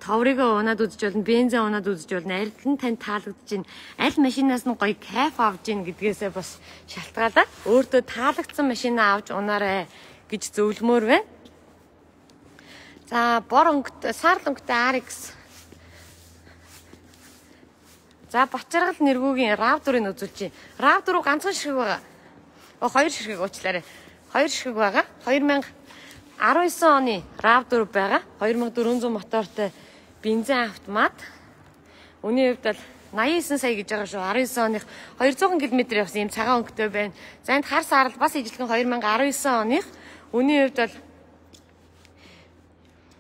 Товрыгоо унаад үзэж болно. Бензин унаад үзэж болно. Аль нь тань таалагдж байна. Аль машинаас нь гоё кайф авж гин гэдгээсээ бас шалтгаалаад өөртөө таалагдсан машинаа авч унаарай гэж зөвлөмөр байна. За бор өнгөтэй саарл өнгөтэй RX. За Бачаргал нэргүүгийн RAV4-ыг үзүүлж байна. RAV4 ганцхан ширхэг байгаа. Хоёр ширхэг уучлаарай. Хоёр ширхэг байгаа. 2019 оны RAV4 байгаа. 2400 мотортой бензин автомат. Үүний хувьд бол 89 сая гэж байгаа шүү. 19 оных 200 км явсан юм цагаан өнгөтэй байна. За энд хар саарл бас ижилхэн 2019 оных.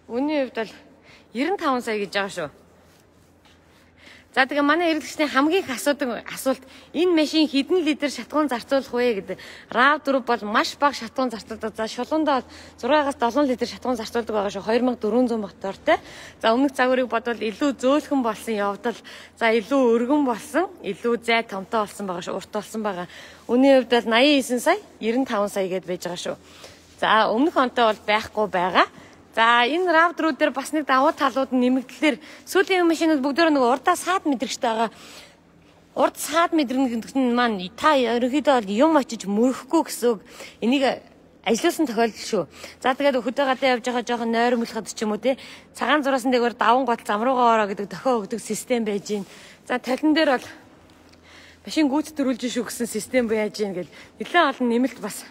Үүний хувьд бол 95 сая гэж байгаа шүү. За тэгээ манай эргэлгчний хамгийн их асуулт энэ машин хэдэн литр шатгуун зарцуулах вэ гэдэг. RAV4 бол маш бага шатгуун зарцуулдаг. За шулуундаа 6-аас 7 литр шатгуун зарцуулдаг байгаа шүү. 2400 мотортой. За өмнөх загварыг бодвол илүү зөөлхөн болсон явдал. За илүү өргөн болсон, илүү зай томтой болсон байгаа шүү. Урт болсон байгаа. Үүний хувьд бол 89 сая, 95 сая гэдээ байж байгаа шүү. За өмнөх онтой бол байхгүй байгаа. За энэ RAV4 дээр бас нэг давуу талууд нь нэмэгдлэр сүүлийн машинууд бүгдөө нэг урдаа саад мэдрэгчтэй байгаа. Урд саад мэдрэнэ гэдэг нь маань та ерөнхийдөө юм очиж мөрөхгүй гэсэн үг. Энийг ажилласан тохиолдол шүү. За тэгээд хөдөө гадаа явж байгаа жоохон нойрмолоход ч юм уу те цагаан зураасан дээгүүр даван гол зам руугаа ороо гэдэг дохио өгдөг систем байж гин. За талин дээр бол машин гүйцэтгүүлж шүү гэсэн систем байж гин гэд нэлээд олон нэмэлт бас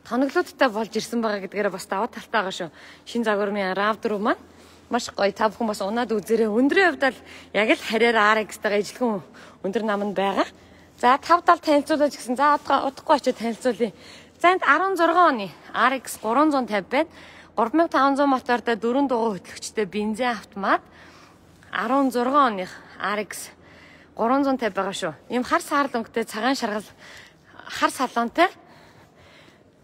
тоноглолттой болж ирсэн байгаа гэдгээр бас даваа талтай байгаа шүү. Шинэ загварын RAV4 маань маш гоё. Та бүхэн бас унаад үзээрэй. Өндрийн хувьд бол яг л харьяар RX-тэйгээ ижилхэн өндөр нам нь байгаа. За 570 танилцуулж гисэн. За удахгүй очиж танилцуулъя. За энд 16 оны RX 350 байна. 3500 мотортой 4 дугуй хөтлөгчтэй бензин автомат. 16 оных RX 350 байгаа шүү. Ийм хар саарл өнгөтэй цагаан шаргал хар салонтой.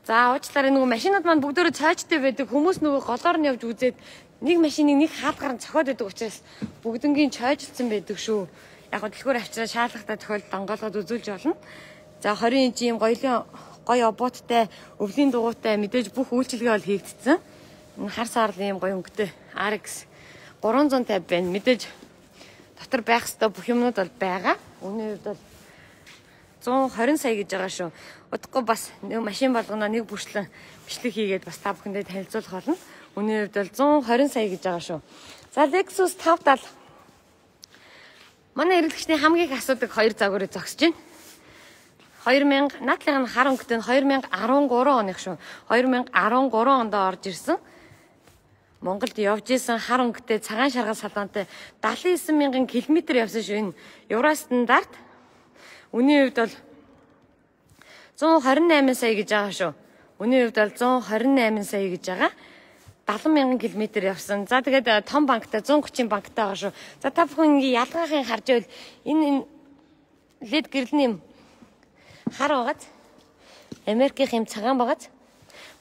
За уучлаарай нөгөө машинууд маань бүгдөө цаажтай байдаг. Хүмүүс нөгөө голоор нь явж үзээд нэг машиныг нэг хаалгаар нь цохиод байдаг учраас бүгднгийн цаажилцсан байдаг шүү. Яг гоо дэлгүүр авчираа шаардлагатай тохиолдолд онгоолгоод үзүүлж болно. За 20 инч ийм гоё обууттай, өвлийн дугуйтай мэдээж бүх үйлчилгээ бол хийгдсэн. Энэ хар саарл ийм гоё өнгөтэй RX 350 байна. Мэдээж дотор байх ёстой бүх юмнууд бол байгаа. Үүний хувьд бол 120 сая гэж байгаа шүү. Удахгүй бас машин болгоно нэг бүрчлэн бичлэг хийгээд бас та бүхэндээ танилцуулах болно. Үнийн хувьд бол 120 сая гэж байгаа шүү. За Lexus 570. Манай эргэлгчний хамгийн их асуудаг хоёр загварыг зогсож байна. 2000 наадлынх нь хар өнгөтэй 2013 оных шүү. 2013 онд орж ирсэн. Монголд явж исэн хар өнгөтэй цагаан шаргал салонтой 79,000 км явсан шүү. Энэ Евро стандарт. Үнийн хувьд бол 128 сая гэж байгаа шүү. Үнийн хувьд бол 128 сая гэж байгаа. 70,000 км явсан. За тэгээд том банктай 130 банктай байгаа шүү. За та бүхэн ингээ ялгаахын харж байвал энэ LED гэрэлний хар байгааз Америкийн юм цагаан байгааз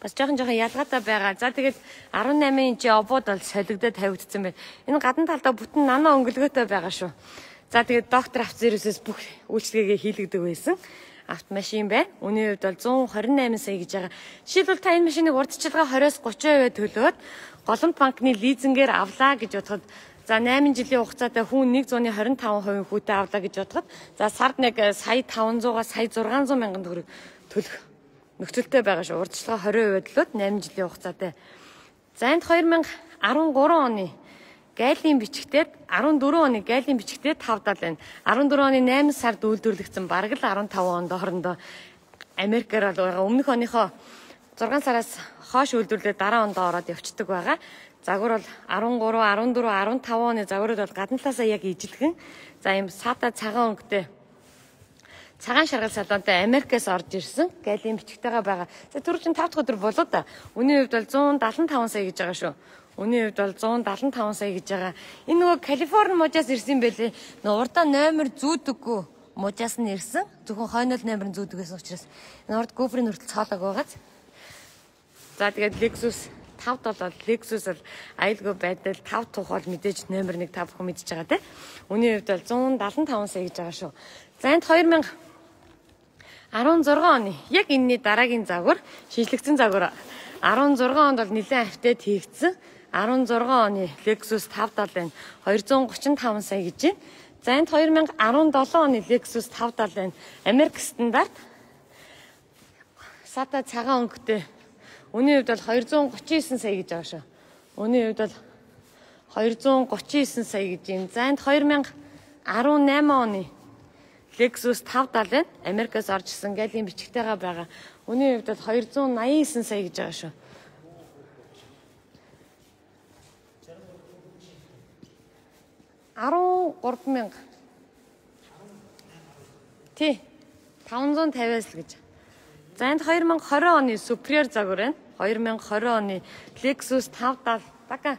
бас жоохон ялгаатай байгаа. За тэгээд 18 инчи обод бол солигдоод тавигдсан байна. Энэ гадна талдаа бүтэн нано өнгөлгөөтэй байгаа шүү. За тэгээд доктор автозервисээс бүх үйлчлэгээ хийлэгдэг байсан автомашин байна. Үнийн хувьд бол 128 сая гэж байгаа. Жишээлбэл та энэ машиныг урдчилгаа 20-30% төлөөд голомт банкны лизингээр авлаа гэж бодоход за 8 жилийн хугацаатай хүн 125% хүүтэй авлаа гэж бодоход за сард нэг сая 500-аас сая 600 мянган төгрөг төлөх нөхцөлтэй байгаа шүү. Урдчилгаа 20% төлөөд 8 жилийн хугацаатай. За энд 2013 оны гайлийн бичгтээд 14 оны гайлийн бичгтээд 570 байна. 14 оны 8 сард үйлдвэрлэгдсэн бараг л 15 онд хоорондоо Америкээр бол байгаа. Өмнөх оныхоо 6 сараас хойш үйлдвэрлээд дараа онд ороод явцдаг байгаа. Загвар бол 13, 14, 15 оны загварууд бол гадна талаасаа яг ижилхэн. За ийм сата цагаан өнгөтэй цагаан шаргал салонтой Америкээс орж ирсэн гайлийн бичгтэйгээ байгаа. За түрүү чинь 5 дахь өдөр болоо да. Үнийн хувьд бол 175 сая гэж байгаа шүү. Үнийн хувьд бол 175 сая гэж байгаа. Энэ нөгөө Калифорни мужаас ирсэн байлээ. Урдаа номер зүүдэггүй мужаас нь ирсэн. Зөвхөн хойнол номер нь зүүдэг гэсэн учраас энэ урд GoPro-ийн хүртэл цоолог байгааз. За тэгээд Lexus 5 бол Lexus бол аюулгүй байдал 5 тух бол мэдээж номер 1 та бүхэн мэдж байгаа тийм. Үнийн хувьд бол 175 сая гэж байгаа шүү. За энд 2016 оны яг энэний дараагийн загвар шинжлэгдсэн загвар 16 онд бол нэлээд автет хийгдсэн. 16 оны Lexus 570 байна. 235 сая гэж байна. За энд 2017 оны Lexus 570 байна. Америк стандарт. Сата цагаан өнгөтэй. Үнийн хувьд бол 239 сая гэж байгаа шүү. Үнийн хувьд бол 239 сая гэж байна. За энд 2018 оны Lexus 570 байна. Америкаас орж ирсэн гайлийн бичгтэйгээ байгаа. Үнийн хувьд бол 289 сая гэж байгаа шүү. 13,000. Тий. 550-аас л гэж. За энд 2020 оны Superior загвар байна. 2020 оны Lexus 570 бака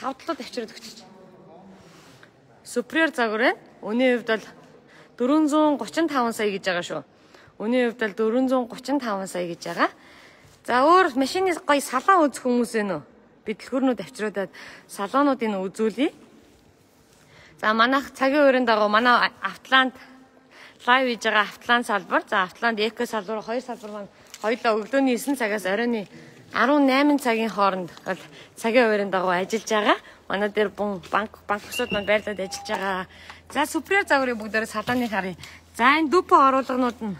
5 тавьчраад өгч. Superior загвар байна. Үнийн хувьд бол 435 сая гэж байгаа шүү. Үнийн хувьд бол 435 сая гэж байгаа. За өөр машины гоё салон үзэх хүмүүс ээ нөө. Би дэлгүүрнүүд авчируудаад салонуудыг үзүүлье. За манайх цагийн үеийн дагуу манай Автоланд лайв хийж байгаа Автоланд салбар. За Автоланд Эко салбар 2 салбар маань хоёулаа өглөөний 9 цагаас оройн 18 цагийн хооронд бол цагийн үеийн дагуу ажиллаж байгаа. Манай дээр банксууд маань байрлаад ажиллаж байгаа. За Superior загварыг бүгдээрээ салааны харъя. За энэ дүпо оруулгынууд нь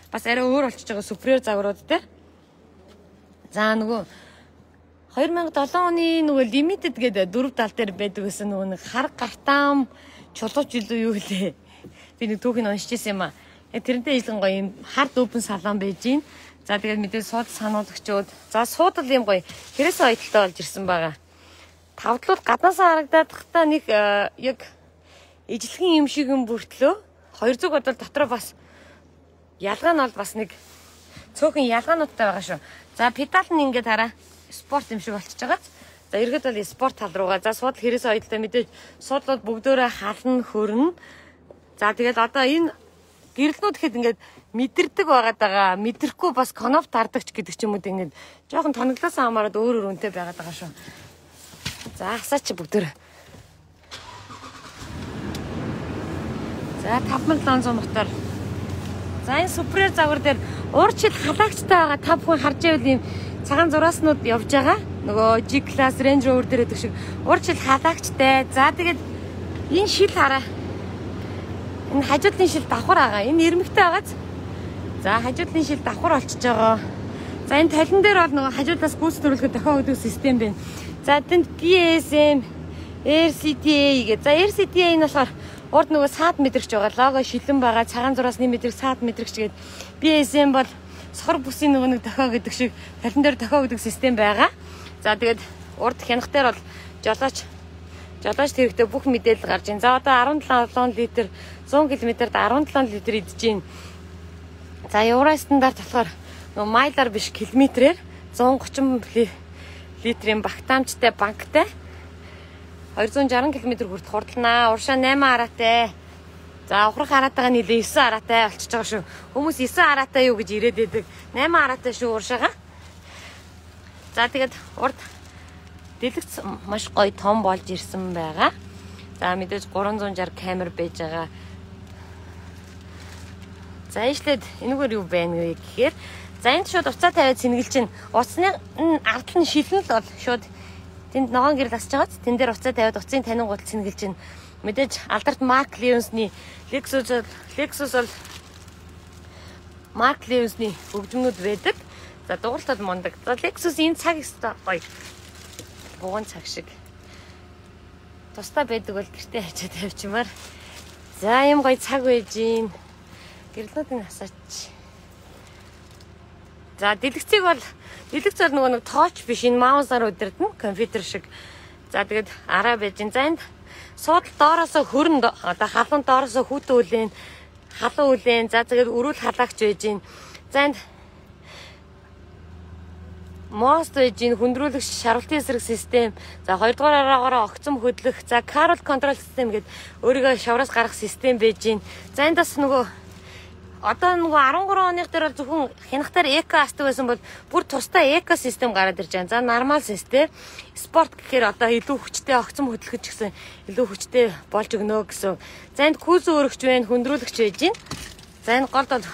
бас арай өөр болчихж байгаа Superior загварууд дээр. За нөгөө 2007 оны нөгөө limited гэдэг 4 тал дээр байдаг гэсэн нөгөө нэг хар гартам чулууч юу гэлээ. Би нэг түүхийг уншиж ирсэн юм аа. Тэрнтэй ийлэн гоё юм хар дүүбэн салон байж гин. За тэгээд мэдээ сууд сануулагчуд. За суудал юм гоё хэрэгсээ ойдолтой болж ирсэн байгаа. Тавдлууд гаднаасаа харагдаад тахта нэг яг ижлэхэн юм шиг юм бүртлөө. Хоёр зүг бодвол дотроо бас ялгаа нь бол бас нэг цөөхөн ялгаануудтай байгаа шүү. За педал нь ингээд хараа спорт юм шиг болчихж байгаа. За эргээд бол спорт тал руугаа. За суудал хэрэгсээ ойдолтой мэдээж суудлууд бүгдөө хална хөрнө. За тэгээд одоо энэ гэрэлнүүд ихэд ингээд мэдэрдэг байгаад байгаа. Мэдрэхгүй бас коноп тардагч гэдэг ч юм уу ингээд жоохон тоноглоос хамаарад өөр үнэтэй байгаад байгаа шүү. За асаач бүгдөө. За 5700 мотор. За энэ Superior загвар дээр уурчил халагчтай байгаа. Та бүхэн харж байвал ийм цагаан зурааснууд явж байгаа. Нөгөө G-Class Range Rover дээр гэдэг шиг уурчил халагчтай. За тэгээд энэ шил хараа. Энэ хажуудлын шил давхар байгаа. Энэ ирмэгтэй байгааз. За хажуудлын шил давхар болчихж байгаа. За энэ талин дээр бол нөгөө хажуудлаас гүйцэтгүүлэхэд дохио өгдөг систем байна. За тэнд PSM, RCTA гэх. За RCTA энэ болохоор урд нөгөө саад мэдрэгч байгаа. Лого шилэн байгаа. Цагаан зураас нэг мэдрэг саад мэдрэгч гээд. PSM бол сохор бүсийн нөгөө нэг дохио гэдэг шиг талин дээр дохио өгдөг систем байгаа. За тэгээд урд хянах дээр бол жолооч хэрэгтэй бүх мэдээлэл гарч ийн. За одоо 17 литр 100 км-д 17 литр идэж гин. За евро стандарт болохоор нөгөө майлаар биш километрээр 130 литрийн багтаамжтай банктай 260 км хүртэл хурдлнаа. Уршаа 8 араатай. За ухрах араатайгаа нийлээ 9 араатай болчихж байгаа шүү. Хүмүүс 9 араатай юу гэж ирээд байдаг. 8 араатай шүү уршаага. За тэгээд урд дэлгэц маш гоё том болж ирсэн байгаа. За мэдээж 360 камер байж байгаа. За ижлээд энэгээр юу байна вэ гэхээр за энд шууд уцаа тавиад сэнгэлж чинь уцны ард нь шилэн л бол шууд тэнд ногоон гэрэл асч байгааз тэн дээр уцаа тавиад уцын танин гутал сэнгэлж чинь мэдээж алдарт Марк Левинсны Lexus бол Марк Левинсны хөгжмнүүд байдаг. За дууралтад мундаг. За Lexus энэ цаг өстой гоё. Буган цаг шиг. Тусдаа байдаг бол гэртээ хачаад тавьчмаар. За юм гоё цаг байж гин. Гэрлүүдийн асаач. За дэлгэц бол нөгөө нэг тооч биш энэ маусаар удирдна компьютер шиг. За тэгээд араа байж гин. За энд суудал доороосоо хөрн одоо халуун доороосоо хүүтэн үлэн халуун үлэн. За тэгээд өрүүл халаагч байж гин. За энд мост байж гин хүндрүүлэгч шаргалтын эсрэг систем. За хоёрдугаар араагаараа огцом хөдлөх. За Carol control system гэдэг өөрийгөө шавраас гаргах систем байж гин. За энд бас нөгөө одоо нөгөө 13 оных дээр бол зөвхөн хянахтаар эко астдаг байсан бол бүр тусдаа эко систем гараад ирж байгаа. За нормал систем. Спорт гэхээр одоо илүү хүчтэй огцом хөдлөхөж гэсэн илүү хүчтэй болж өгнө гэсэн. За энд күүз өөрөгч байна, хүндрүүлэгч байж гин. За энэ голд бол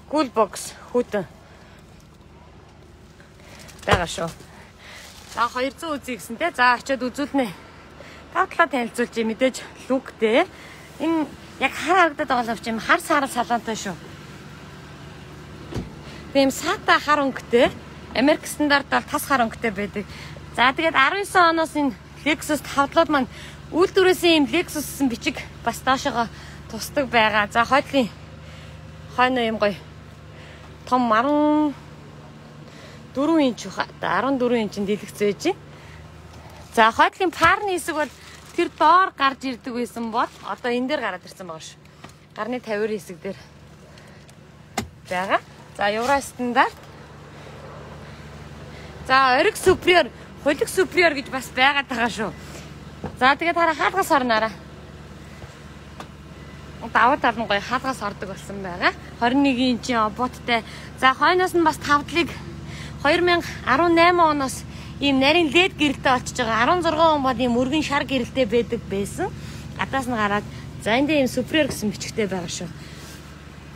cool box хүүтэн байгаа шүү. За 200 үзье гэсэн те. За очиод үзүүлнэ. Тавтлаа танилцуулж мэдээж лүгтэй. Энэ яг хар харагдаад байгаа л юм хар сарал салаантай шүү. Тийм сата хар өнгөтэй. Америк стандарт бол тас хар өнгөтэй байдаг. За тэгээд 19 оноос энэ Lexus тавдлууд маань үйлдвэрээсээ юм Lexus-ын бичиг бас доошоо тусдаг байгаа. За хойдлын хойно юм гоё том 14 инч хаа 14 инчин дэлгэц байж байна. За хойдлын парны хэсэг бол тэр доор гарч ирдэг байсан бол одоо энэ дээр гараад ирсэн байгаа шүү. Гарны 50 хэсэг дээр байгаа. За евро стандарт. За ориг superior, хулиг superior гэж бас байгаад байгаа шүү. За тэгээд хараа хаалгаас орнараа. Даваа тал нь гоё хаалгаас ордог болсон байгаа. 21 инчийн оботтой. За хойноос нь бас тавдлыг 2018 оноос ийм нарийн LED гэрэлтэй очиж байгаа. 16 он бол ийм өргөн шар гэрэлтэй байдаг байсан. Гадаас нь гараад за энд ийм superior гэсэн бичгтэй байгаа шүү.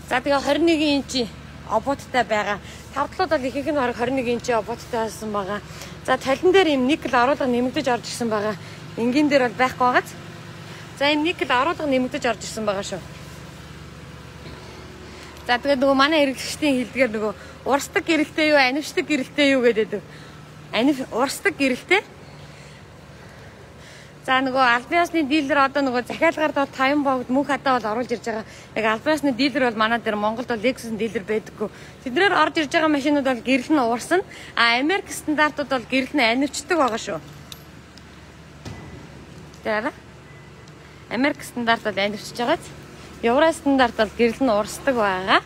За тэгээ 21 инчи оботтой байгаа. Тавдлууд бол ихэнх нь 21 инчи оботтой байсан байгаа. За талин дээр ийм никл оруулга нэмэгдэж орж ирсэн байгаа. Энгийн дээр бол байхгүй байгааз. За ийм никл оруулга нэмэгдэж орж ирсэн байгаа шүү. За тэгээ нөгөө манай хэрэглэгчдийн хэлдгээр нөгөө урсдаг гэрэлтэй юу, анившдаг гэрэлтэй юу гэдэг. Урсдаг гэрэлтэй. За нөгөө албан ёсны дилер одоо нөгөө захиалгаар доо 50 богд мөнх хадаа бол оруулж ирж байгаа. Яг албан ёсны дилер бол манай дээр Монголд бол Lexus-ын дилер байдаггүй. Тэднэр орж ирж байгаа машинууд бол гэрэл нь уурсан. Америк стандартууд бол гэрэл нь анивчдаг байгаа шүү. Тэр Америк стандарт бол анивчж байгааз. Евро стандарт бол гэрэл нь уурсдаг байгаа.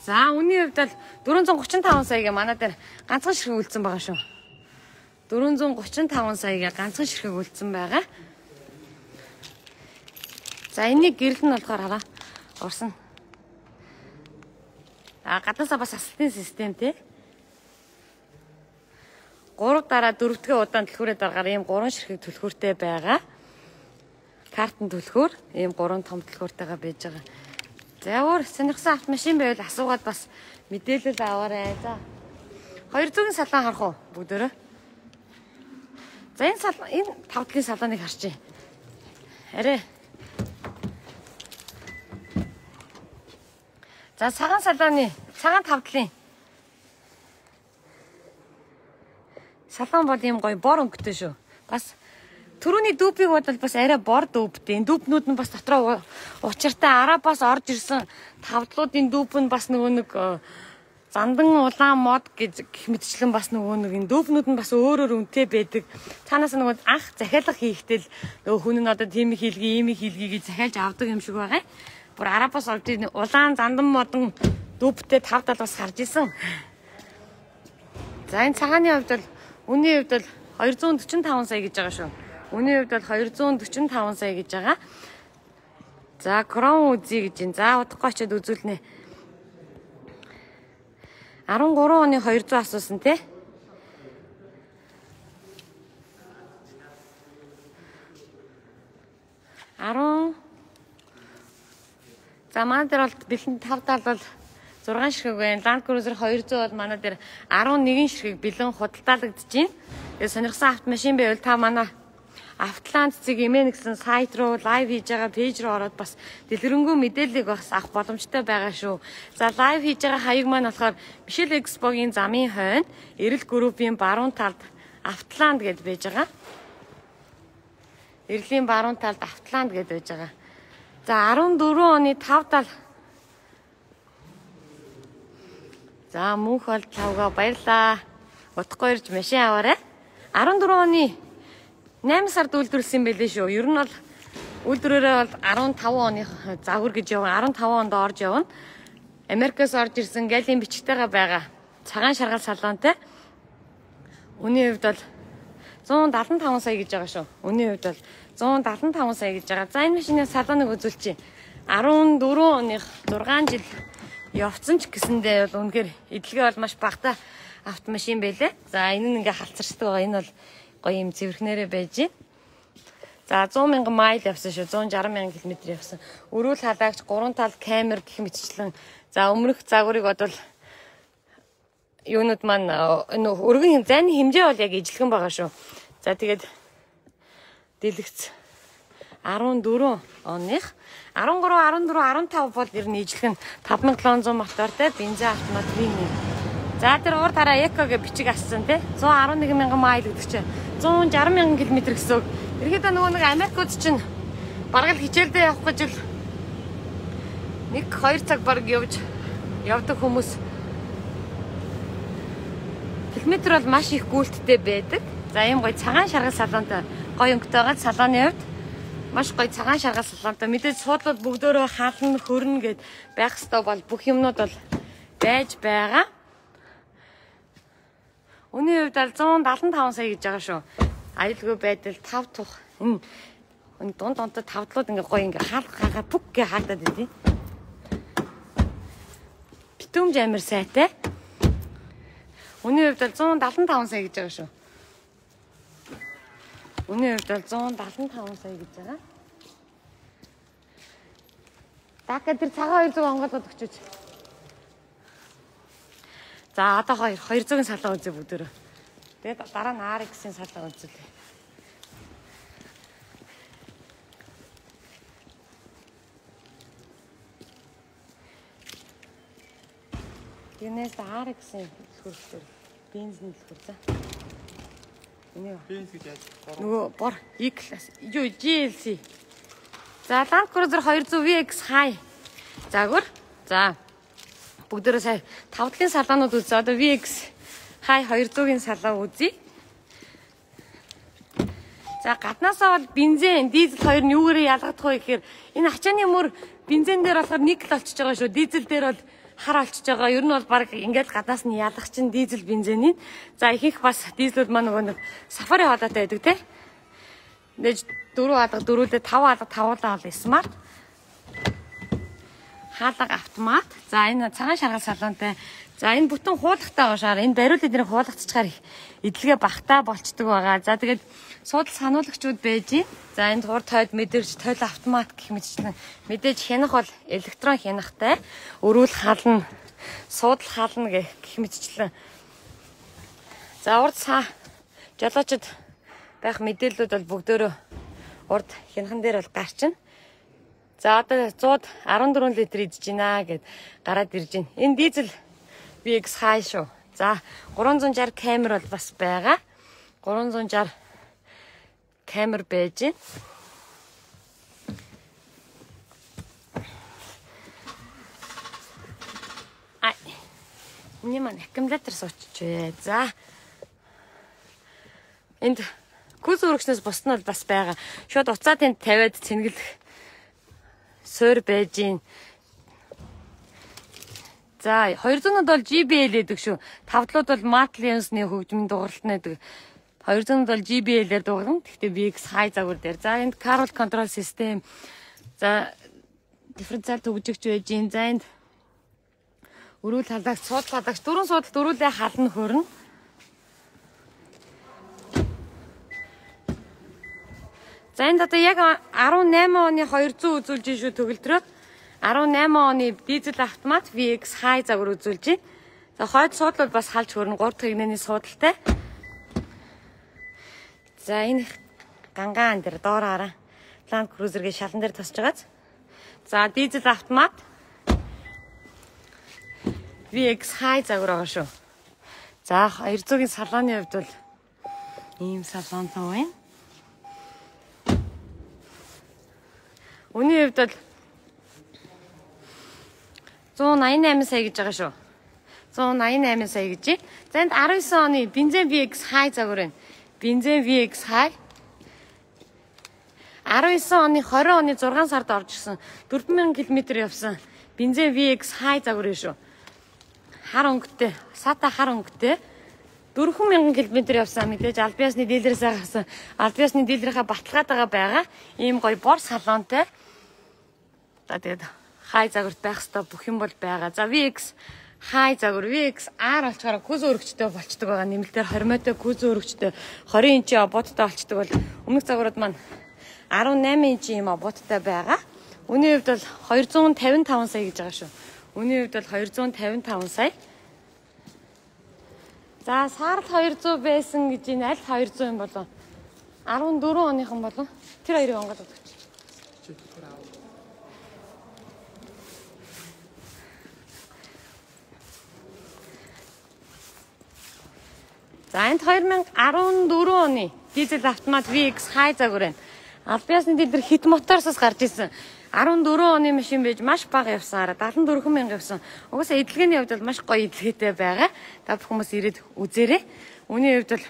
За үнийн хувьд бол 435 саяга манай дээр ганцхан ширхэг үлдсэн байгаа шүү. 435 саяга ганцхан ширхэг үлдсэн байгаа. За энийг гэрэл нь болохоор хараа уурсан. Гадаасаа бас асалтын систем тий. 3 дараа 4-р удаан түлхүүрээ дараагаар ийм 3 ширхэг түлхүүртэй байгаа. Картын түлхүүр ийм 3 том түлхүүртэйгээ байж байгаа. За өөр сонирхсан автомашин байвал асуугаад бас мэдээлэл аваарай. За 200-ын салон харах уу бүгдөө. За энэ тавдлын салоныг харчих. Арай. За цагаан салааны, цагаан тавдлын. Салаан бол юм гоё бор өнгөтэй шүү. Бас түрүүний дүүпийг бодвол бас арай бор дүүптэй. Дүүпнүүд нь бас дотроо учиртай арабаас орж ирсэн тавдлуудын дүүп нь бас нөгөө нэг зандан улаан мод гэж гэх мэтчлэн бас нөгөө нэг энэ дүүпнүүд нь бас өөрөөр үнэтэй байдаг. Цаанаас нөгөө анх захиалга хийхдээ л нөгөө хүн нь одоо тийм хийлгээ, ийм хийлгээ гэж захиалж авдаг юм шиг байгаа. Бүр арабаас орж ирсэн улаан зандан модон дүүптэй тавдал бас гарч исэн. За энэ цагааны хувьд бол үнийн хувьд бол 245 сая гэж байгаа шүү. Үнийн хувьд бол 245 сая гэж байгаа. За крон үзье гэж байна. За удахгүй очиод үзүүлнэ. 13 оны 200 асуусан тий. За манай дээр бол бэлэн 5 тал бол 6 ширхэг байна. Land Cruiser 200 бол манай дээр 11 ширхэг бэлэн худалдаалагдаж байна. Тэгээ сонирхсан автомашин байвал та манай Автоланд цэг имэн гэсэн сайт руу лайв хийж байгаа пэйж руу ороод бас дэлгэрэнгүй мэдээллийг бас авах боломжтой байгаа шүү. За лайв хийж байгаа хаяг маань болохоор Мишель Экспогийн замын хойно Эрэл группийн баруун талд Автоланд гэдээ байж байгаа. Эрлийн баруун талд Автоланд гэдээ байж байгаа. За 14 оны 5 тал. За мөнх бол тавгаа баярлаа. Утгагүй ирж машин аваарай. 14 оны 8 сард үйлдвэрлэсэн байлээ шүү. Ер нь бол үйлдвэрээрээ бол 15 оны загвар гэж явна. 15 онд орж явна. Америкаас орж ирсэн галийн бичгтэйгээ байгаа. Цагаан шаргал салонтой. Үнийн хувьд бол 175 сая гэж байгаа шүү. Үнийн хувьд бол 175 сая гэж байгаа. За энэ машины салоныг үзүүлчихье. 14 оных 6 жил явцсан ч гэсэндээ бол үнэхээр эдлэгээ бол маш багтаа автомашин байлээ. За энэ нь ингээ халцарчдаг байгаа. Энэ бол гоё юм цэвэрхнээрээ байж байна. За 100 мянган майл явсан шүү. 160 мянган км явсан. Өрүүл халаагч 3 тал камер гэх мэтчлэн. За өмнөх загварыг бодвол юунууд маань өргөн зайны хэмжээ бол яг ижилхэн байгаа шүү. За тэгээд дэлгэц 14 оных 13, 14, 15 бол ер нь ижилхэн 5700 мотортой бензин автомат вин. За тэр урд хараа эко гэж бичиг ассан тий 111 мянган майл гэдэг чинь 160 мянган км гэсэн үг. Ерөөдөө нөгөө нэг Америкууд чинь бараг л хичээлдээ явах гэж л 1-2 цаг бараг явдаг хүмүүс. Километр бол маш их гүйлттэй байдаг. За ийм гоё цагаан шаргал салонтой гоё өнгөтэй байгаа. Салооны хувьд маш гоё цагаан шаргал салонтой. Мэдээж суудлууд бүгдөө хаална, хөрнө гэд байх ёстой бол бүх юмнууд бол байж байгаа. Үнийн хувьд 175 сая гэж байгаа шүү. Аюулгүй байдал 5 тух. Энэ дунд тавдлууд ингээ гоё ингээ хаалгаа пүк гэ хаагдаад байдیں۔ Битүүмж амир сайтай. Үнийн хувьд 175 сая гэж байгаа шүү. Үнийн хувьд 175 сая гэж байгаа. Дака тэр цагаан 200 онгоолгоод өгчөөч. За одоо 200-ын салаа үзье бүгдөө. Тэгээд дараа нь RX-ийн салаа үзье. Юунаас RX-ийн хөрөлтөөр бензин хэлхүр за. Энэ бензин гэж яаж? Нөгөө бор E-class. Юу GLC. За Land Cruiser 200 VX High. Загвар. За бүгдээрээ сая тавдлын салаанууд үзье. Одоо VX High 200-ийн салаа үзье. За гаднаасаа бол бензин, дизель хоёр нь юугаар ялгагдах вэ гэхээр энэ ачааны мөр бензин дээр болохоор никл олчж байгаа шүү. Дизель дээр бол хар олчж байгаа. Ер нь бол баг ингээд гаднаас нь ялгах чинь дизель бензиний. За ихэнх бас дизелүүд маань нөгөө нэг сафари хоолойтой байдаг те. Нэж 4 алга 4-өөдөө 5 алга 5-уулаа бол смарт. Хаалга автомат. За энэ цагаан шаргал салонтой. За энэ бүтэн хуулахтай уушаар энэ бариул эднэрийг хуулгацчихаар эдлэгээ багтаа болчдөг байгаа. За тэгээд суудал сануулагчуд байж гин. За энэ урд тойд мэдэрч тойл автомат гэх мэтчлэн мэдээж хянах бол электрон хянахтай. Өрүүл хална, суудал хална гэх мэтчлэн. За урд жолоочд байх мэдээллүүд бол бүгдөө урд хянхан дээр бол гарчин. За одоо 114 литр идэж байна гэд гараад ирж байна. Энэ дизель VX High шүү. За 360 камер бол бас байгаа. 360 камер байж байна. Миний маань аккумулятор суучих. За. Энд күс өргөчнөөс бусд нь бол бас байгаа. Шууд уцаа тэнд тавиад цэнгэлэх суур байж гин. За 200-д бол JBL гэдэг шүү. 5-длууд бол Martlions-ны хөгжмийн дууралт нэдэг. 200-д бол JBL-ээр дуурна. Гэхдээ VX High загвар дээр. За энд Carol Control System. За дифференциал төгжигч байж гин. За энд өрүүл халагч, суудал халагч, дөрвөн суудалт өрүүлээ хална хөрнө. За энд одоо яг 18 оны 200 үзүүлж шүү төгөлдрөө. 18 оны дизель автомат VX High загвар үзүүлж байна. За хойд суудал бас халж хөрнө 3 дахь игнэний суудалтай. За энэ гангаан дээр доораараа Land Cruiser-гийн шалан дээр тосч байгааз. За дизель автомат VX High загвар байгаа шүү. За 200-ийн салооны хувьд бол ийм салонтой байна. Үүний хувьд бол 188 сая гэж байгаа шүү. 188 сая гэж. За энд 19 оны бензин VX High загвар байна. Бензин VX High 19 оны 20 оны 6 сард орж ирсэн 4000 км явсан бензин VX High загвар шүү. Хар өнгөтэй, сата хар өнгөтэй 4000 км явсан мэдээж аль биесны дилерээс гаргасан. Аль биесны дилерийнхаа баталгаатай байгаа. Ийм гоё бор салонтой. За тэгээд High загварт байх ёстой бүх юм бол байгаа. За VX High загвар VX R болчоор күз өргөчтэй болчдөг байгаа. Нэмэлтээр 20 мөтэй күз өргөчтэй 20 инчийн ободтой болчдөг бол өмнөх загварууд маань 18 инчийн юм ободтой байгаа. Үүний хувьд бол 255 сая гэж байгаа шүү. Үүний хувьд бол 255 сая. За сард 200 байсан гэж энэ аль 200 юм болов? 14 оныхан болов? Тэр хоёрыг онгод өгч. За энд 2014 оны дизель автомат VX High загвар байна. Аль биесны дилер хит моторсоос гарч ирсэн. 14 оны машин байж маш бага явсан. 74 мянга явсан. Угаасаа эдлэгээний хувьд бол маш гоё эдлэгээтэй байгаа. Та бүх хүмүүс ирээд үзээрэй. Үүний хувьд бол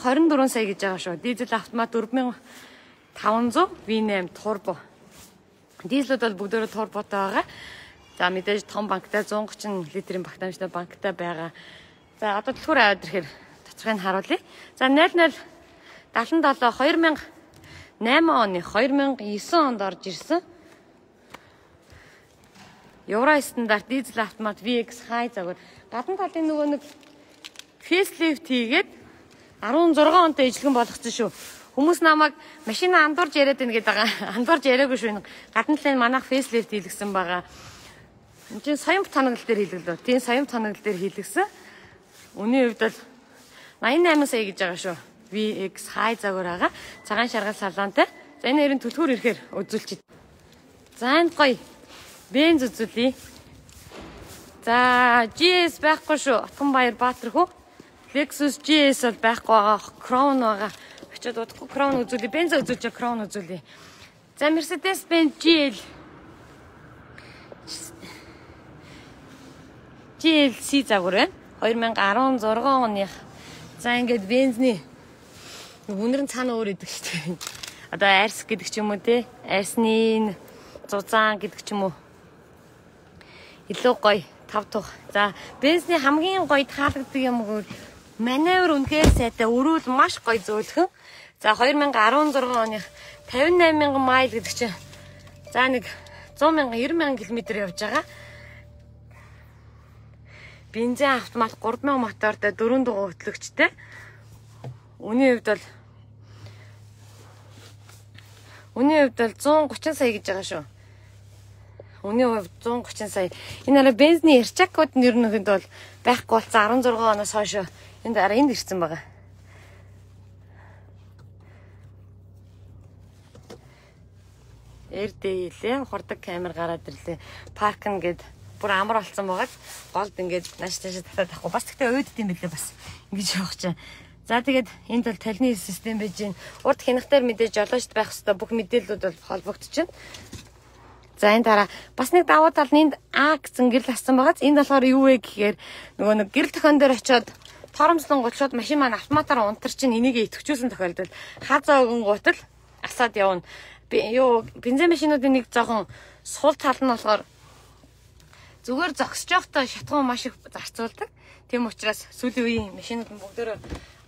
124 сая гэж байгаа шүү. Дизель автомат 4500 V8 турбо. Дизелүүд бол бүгдөө турботой байгаа. За мэдээж том банктай 130 литрийн багтаамжтай банктай байгаа. За одоо дэлгүүр аваад ирэхээр тоцгыг нь харуулъя. За 00 77 2008 оны 2009 онд орж ирсэн. Евро стандарт дизель автомат VX High загвар. Гадна талын нөгөө нэг facelift хийгээд 16 онтой ижлэгэн болгоцсон шүү. Хүмүүс намайг машина андуурж яриад байна гэдэг байгаа. Андуурж яриагүй шүү. Гадна талын манайх facelift хийлгсэн байгаа. Энд чинь соён тоноглол дээр хийлгэлөө. Тийм соён тоноглол дээр хийлгсэн. Үүний хувьд бол 88 сая гэж байгаа шүү. VX High загвар байгаа. Цагаан шаргал салонтой. За энэ хоёрын түлхүүр ирэхээр үзүүлчих. За энэ гоё бенз үзүүлье. За GS байхгүй шүү. Отгонбаяр Баатархүү. Lexus GS бол байхгүй байгаа. Crown байгаа. Очоод удахгүй Crown үзүүлье. Бенз үзүүлж Crown үзүүлье. За Mercedes-Benz GLC загвар байна. 2016 оных. За ингээд бензний үнэр нь цаана өөр идэг шүү дээ. Одоо Айрс гэдэг ч юм уу те. Айрсны зузаан гэдэг ч юм уу. Илүү гоё тав тух. За бензний хамгийн гоё таалагддаг юм гоо маневр үнэхээр сайтай. Өрүүл маш гоё зөөлхөн. За 2016 оны 58,000 майл гэдэг чинь за нэг 100,000 90,000 км явж байгаа. Бензин автомат 3000 мотортой 4 дугаар хөтлөгчтэй. Үүний хувьд бол 130 сая гэж байгаа шүү. Үүний хувьд 130 сая. Энэ арай бензины эрчакууд нь ерөнхийд бол байхгүй болсон 16 оноос хойш энд ирсэн байгаа. RD лээ ухардаг камер гараад ирлээ. Паркинг гэд бүр амар болсон байгаад голд ингээд нааш таашаа татаад авахгүй. Бас тэгтээ өөдд юм билээ бас. Ингэж явах чинь. За тэгээд энд бол талны систем байж гин. Урд хянахтаар мэдээж жолоочд байх хэвээр бүх мэдээллүүд бол холбогдчихно. За энэ дараа бас нэг давуу тал нь энд А гэсэн гэрэл хассан байгааз энд болохоор юу вэ гэхээр нөгөө нэг гэрэл тохион дээр очиод торомслон гол шууд машин маань автоматар унтар чинь энийг идэвхжүүлсэн тохиолдолд хазаа өгөн гутал асаад явна. Бензин машинуудын нэг жоохон сул тал нь болохоор зүгээр зогсож явахдаа шатгуун маш их зарцуулдаг. Тийм учраас сүүлийн үеийн машинууд нь бүгдөө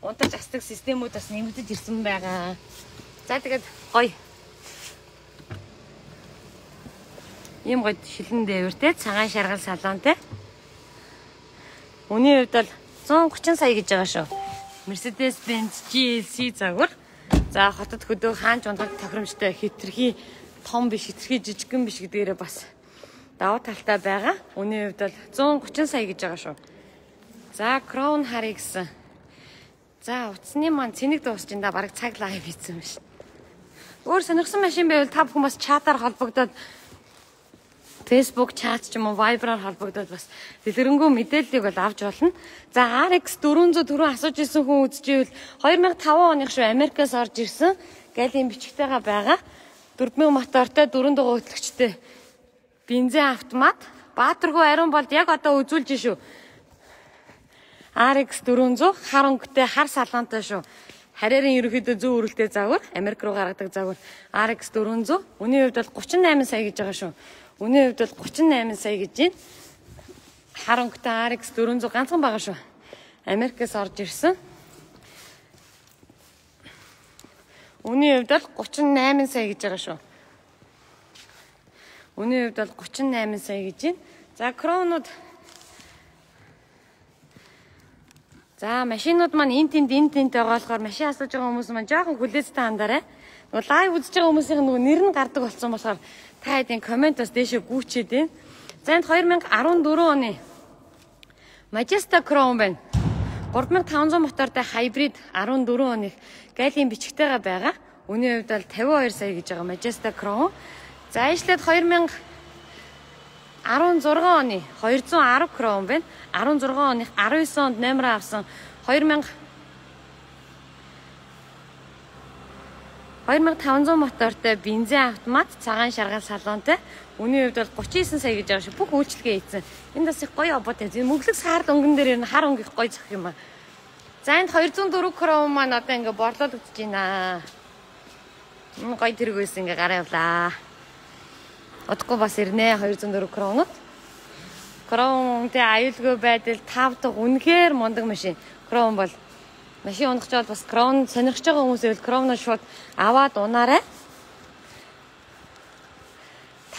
унтаж асдаг системүүд бас нэмэгдэж ирсэн байгаа. За тэгээд гоё. Ийм гоё шилэн дээвэртэй цагаан шаргал салонтэй. Үний хувьд бол 130 сая гэж байгаа шүү. Mercedes-Benz GLC загвар. За хотод хөдөө хаанч ундаг тохиромжтой хитрхи том биш, хитрхи жижигхэн биш гэдгээрээ бас давуу талтай байгаа. Үний хувьд бол 130 сая гэж байгаа шүү. За Crown харъя гэсэн. За утасны маань цэник дуусч энэ бараг цаг лайв хийсэн биш. Өөр сонирхсан машин байвал та бүхэн бас чатаар холбогдоод Facebook чат ч юм уу Viber-аар холбогдоод бас дэлгэрэнгүй мэдээллийг бол авч болно. За RX 400 түрүү асууж ирсэн хүн үзчихвэл 2005 оных шүү Америкаас орж ирсэн. Галийн бичгтэйгээ байгаа. 4000 мотортой 4 дугаар хөтлөгчтэй бензин автомат. Баатаргүй ариун болд яг одоо үзүүлж шүү. RX 400 хар өнгөтэй хар салаантай шүү. Харьяарын ерөөхдөө зүүн өрөлтэй загвар, Америк руу гаргадаг загвар RX 400. Үний хувьд бол 38 сая гэж байгаа шүү. Үний хувьд бол 38 сая гэж байна. Хар өнгөтэй RX 400 ганцхан байгаа шүү. Америкээс орж ирсэн. Үний хувьд бол 38 сая гэж байгаа шүү. Үний хувьд бол 38 сая гэж байна. За кронууд. За машинууд маань энэ тэнд байгаа болохоор машин асууж байгаа хүмүүс маань жоохон хүлээцтэй хандаарай. Нөгөө лайв үзэж байгаа хүмүүсийн нөгөө нэр нь гардаг болсон болохоор та хэдийн комент бас дээшээ гүйчээд байна. За энд 2014 оны Majesta Crown байна. 3500 мотортой хайбрид 14 оны галийн бичгтэйгээ байгаа. Үний хувьд бол 52 сая гэж байгаа Majesta Crown. За ишлээд 2016 оны 210 Crown байна. 16 оны 19 онд номер авсан 2500 мотортой бензин автомат цагаан шаргал салонтой. Үний хувьд бол 39 сая гэж байгаа шүү. Бүх үйлчлэгээ хийсэн. Энд бас их гоё обод ээ. Мөнгөлөг саар өнгөн дээр ер нь хар өнгө их гоё зөх юм аа. За энд 204 Crown маань одоо ингээ борлуулагдаж байна. Гоё тэрэг байсан ингээ гараа явлаа. Одохгүй бас ирнэ 204 Crown-ууд. Crown-тэй аюулгүй байдал 5 дахь үнэхээр мундаг машин. Crown бол машин унах чад бас Crown сонирхож байгаа хүмүүс байвал Crown-оо шууд аваад унаарай.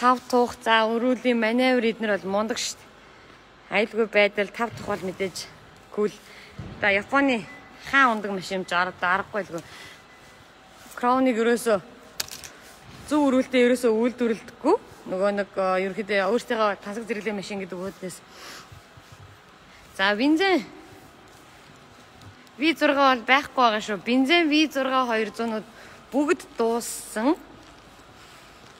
5 тух за өрүүлийн маневр эднэр бол мундаг шүү дээ. Аюулгүй байдал 5 дахь бол мэдээж cool. За Японы хаан ундаг машин ч аргагүй л гоо. Crown-ыг ерөөсөө зөв өрүүлтэй ерөөсөө үйлдвэрлэдэггүй. Нөгөө нэг ерөөхдөө өөртөө тансаг зэрэглэлийн машин гэдэг үүднээс. За бензин V6 бол байхгүй байгаа шүү. Бензин V6 200-ууд бүгд дууссан.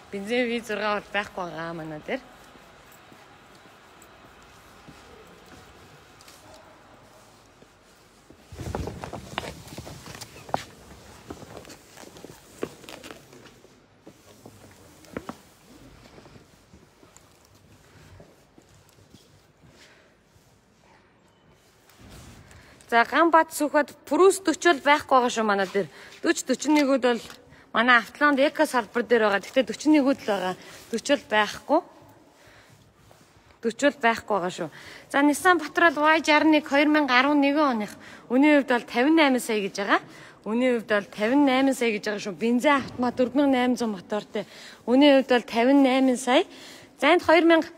Бензин V6 бол байхгүй байгаа манай дээр. За Ганбат сүхэд Прус 40 бол байхгүй байгаа шүү манай дээр. 40-41-үүд бол манай Автоланд Эко салбар дээр байгаа. Гэхдээ 41-үүд л байгаа. 40 байхгүй. 40 байхгүй байгаа шүү. За Nissan Patrol Y61 2011 оных. Үний хувьд бол 58 сая гэж байгаа. Үний хувьд бол 58 сая гэж байгаа шүү. Бензин автомат 4800 мотортой. Үний хувьд бол 58 сая. За энд 2016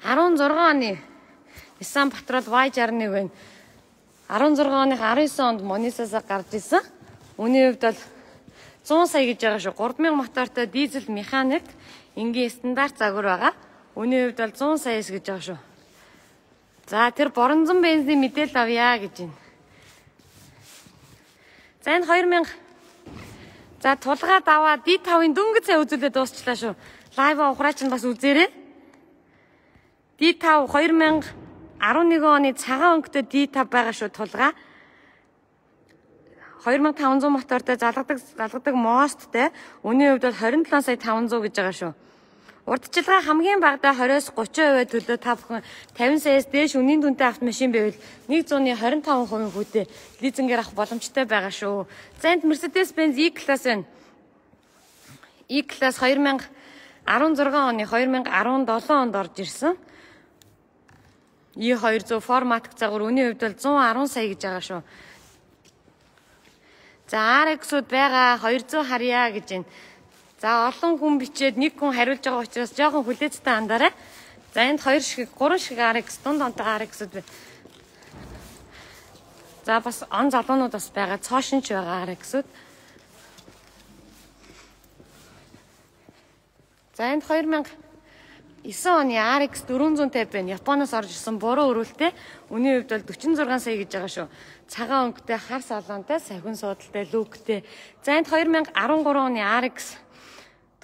оны Nissan Patrol Y61 байна. 16 оны 19 онд Монисасаа гарч ирсэн. Үний хувьд бол 100 сая гэж байгаа шүү. 3000 мотортой дизель механик энгийн стандарт загвар байгаа. Үний хувьд бол 100 саяас гэж байгаа шүү. За тэр боронзон бензин мэдээлэл авъя гэж байна. За энэ 2016 За тулгаа даваа D5-ын дөнгөж сая үзүүлээд дуусчлаа шүү. Лайв ухраач нь бас үзээрэй. D5 2011 оны цагаан өнгөтэй D5 байгаа шүү тулгаа. 2500 мотортой залгадаг мосттэй. Үнийн хувьд бол 27 сая 500 гэж байгаа шүү. Урдчилгаа хамгийн багадаа 20-30% төлөө та бүхэн 50 саяас дээш үнийн дүнтэй автомашин байвал 125% хүүтэй лизингээр авах боломжтой байгаа шүү. За энд Mercedes-Benz E-Class байна. E-Class 2016 оны 2017 онд орж ирсэн. E200 форматик загвар үнийн хувьд бол 110 сая гэж байгаа шүү. За RX-ууд байгаа 200 харьяа гэж байна. За олон хүн бичээд нэг хүн хариулж байгаа учраас жоохон хүлээцтэй андараа. За энд 3 шиг RX дунд онтой RX-ууд байна. За бас он залуунууд бас байгаа, цоошинч байгаа RX-ууд. За энд 2009 оны RX 450 байна. Японоос орж ирсэн буруу өрүүлтэй. Үнийн хувьд бол 46 сая гэж байгаа шүү. Цагаан өнгөтэй, хар салонтой, сахин суудалтай, люктэй. За энд 2013 оны RX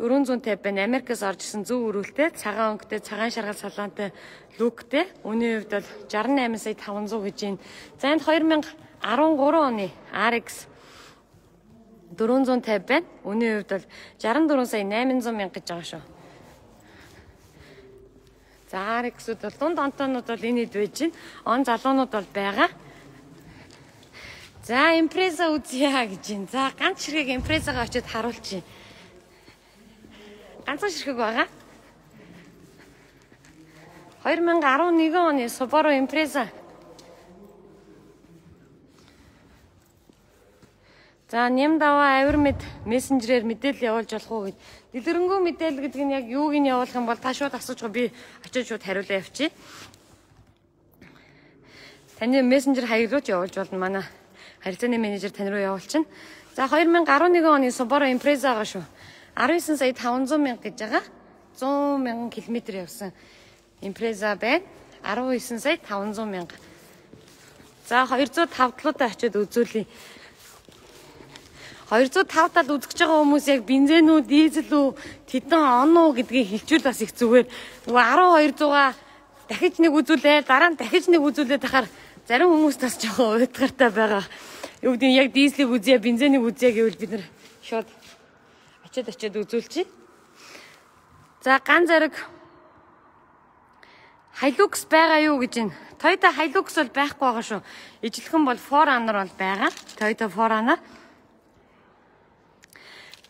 450 байна. Америкаас орж ирсэн зөв өрүүлтэй, цагаан өнгөтэй, цагаан шаргал салонтой, люктэй. Үнийн хувьд бол 68 сая 500 гэж байна. За энд 2013 оны RX 450 байна. Үнийн хувьд бол 64 сая 800 мянга гэж байгаа шүү. За RX-ууд бол дунд онтонууд бол энэ хэд байж байна. Он залуунууд бол байгаа. За Impreza үзье гэж байна. За ганц ширхэг Impreza-гаа очиод харуулчих. Ганцхан ширхэг байгаа. 2011 оны Subaru Impreza. За Нямдава авир мессенжерээр мэдээлэл явуулж болох уу гэж. Дэлгэрэнгүй мэдээлэл гэдэг нь яг юуг нь явуулах юм бол та шууд асууж байгаа, би очиж шууд хариулаа явчих. Таны мессенжер хаягдлууч явуулж болно. Манай харилцааны менежер тань руу явуулчихна. За 2011 оны Subaru Impreza байгаа шүү. 19 сая 500 мянга гэж байгаа. 100 мянган километр явсан Impreza байна. 19 сая 500 мянга. За 205 талуудаа очиод үзүүлье. 205 тал үзэж байгаа хүмүүс яг бензин үү, дизель үү, тэдэн он уу гэдгийг хэлчихвэл бас их зүгээр. Нөгөө 1200-аа дахиж нэг үзүүлээ, дараа нь дахиж нэг үзүүлээд тахаар зарим хүмүүс бас жоохон уйтгартай байгаа. Юу гэдэг нь яг дизелийг үзье, бензинийг үзье гэвэл бид нар шууд очиод үзүүлчихье. За ган зэрэг Hilux байгаа юу гэж байна. Toyota Hilux бол байхгүй байгаа шүү. Ижлэхэн бол 4Runner бол байгаа. Toyota 4Runner.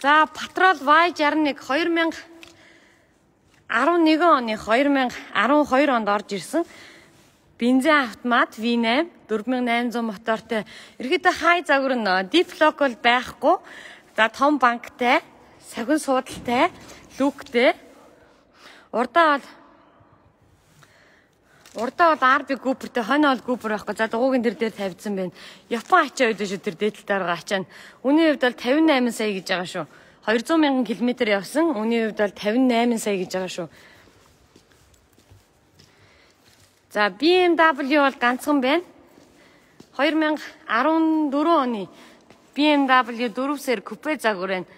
За Patrol Y61 2011 оны 2012 онд орж ирсэн. Бензин автомат V8 4800 мотортой. Ерөөдөө хай загвар нь deep lock бол байхгүй. За том банктай, сахин суудалтай, люктэй. Урдаа бол RB Cooper-тэй, хонь бол Cooper байхгүй. За дугуйн тэр дээр тавьдсан байна. Япон ачаа үед шүү тэр дээдэлтэй байгаа ачаа. Үнийн хувьд бол 58 сая гэж байгаа шүү. 200 мянган километр явсан. Үнийн хувьд бол 58 сая гэж байгаа шүү. За BMW бол ганцхан байна. 2014 оны BMW 4 сер купе загвар байна.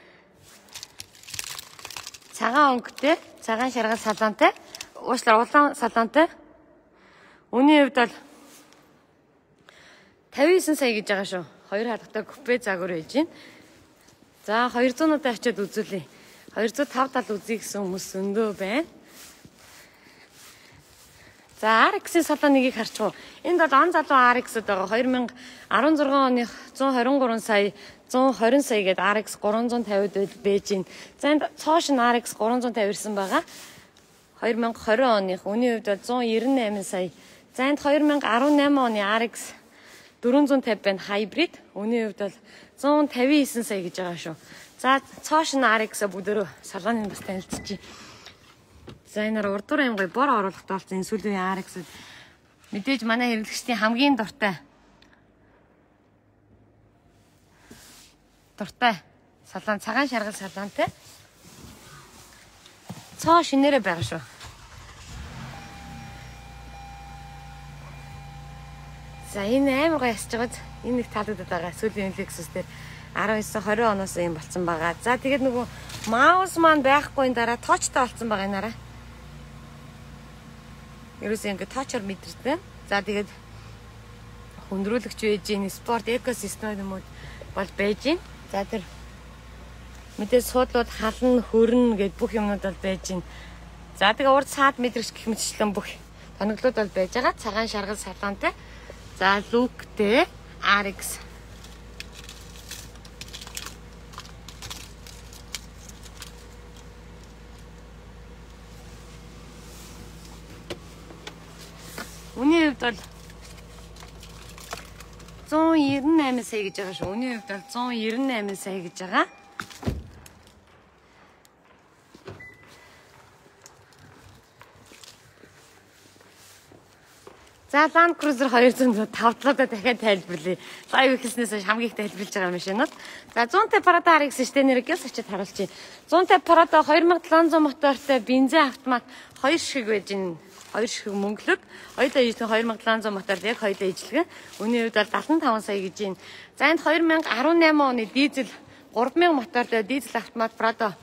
Цагаан өнгөтэй, цагаан шаргал салонтой, улаан салонтой. Үнийн хувьд бол 59 сая гэж байгаа шүү. Хоёр хадгатай купе загвар байж байна. За 200-уудаа очиод үзүүлье. 205 тал үзье гэсэн хүмүүс өндөө байна. За RX-ийн салоныг харчих уу. Энд бол он залуу RX-д байгаа. 2016 оны 123 сая 120 сая гээд RX 350 байж байна. За энд цоошин RX 350 ирсэн байгаа. 2020 оны үнийн хувьд бол 198 сая. За энд 2018 оны RX 450 байна хайбрид. Үнийн хувьд бол 159 сая гэж байгаа шүү. За цоошин RX-а бүгдөө салоныг бас танилцчихъя. За энэ урдуур аим гоё бор оруулахтай болсон энэ сүүлийн RX мэдээж манай хэрэглэгчдийн хамгийн дуртай салон, цагаан шаргал салонтой. Цоо шинээрээ байгаа шүү. За энэ амар гоё ясж байгааз энэ нэг таалагдаад байгаа сүүлийн Lexus дээр. 19-20 оноос юм болсон байгаа. За тэгээд нөгөө маус маань байхгүй дараа тоочтой болсон байгаа нараа. Ерөөсөө ингэ тоочор мэдэрдэг. За тэгээд хүндрүүлэгч байж гин спорт экосистем юм уу бол байж гин. За тэр мэдээ суудлууд хална хөрнө гэд бүх юмнууд бол байж гин. За тэгээ урд саад мэдрэгч гэх мэтчлэн бүх тоноглууд бол байж байгаа. Цагаан шаргал салонтой. За лүктэй RX. Үний хувьд бол 198 сая гэж байгаа шүү. Үний хувьд бол 198 сая гэж байгаа. За Land Cruiser 205 талуудаа дахиад тайлбарлая. Лайв эхэлснээс хамгийн их тайлбарлаж байгаа машинууд. За 150 Prado RX штэ нэрээс очиад харуулчих. 150 Prado 2700 мотортой бензин автомат 2 шиг байж гин. 2 шиг мөнгөлөг. Хоёулаа ижлэг 2700 мотор яг хоёулаа ижлэг. Үний хувьд бол 75 сая гэж байна. За энд 2018 оны дизель 3000 мотортой дизель автомат Prado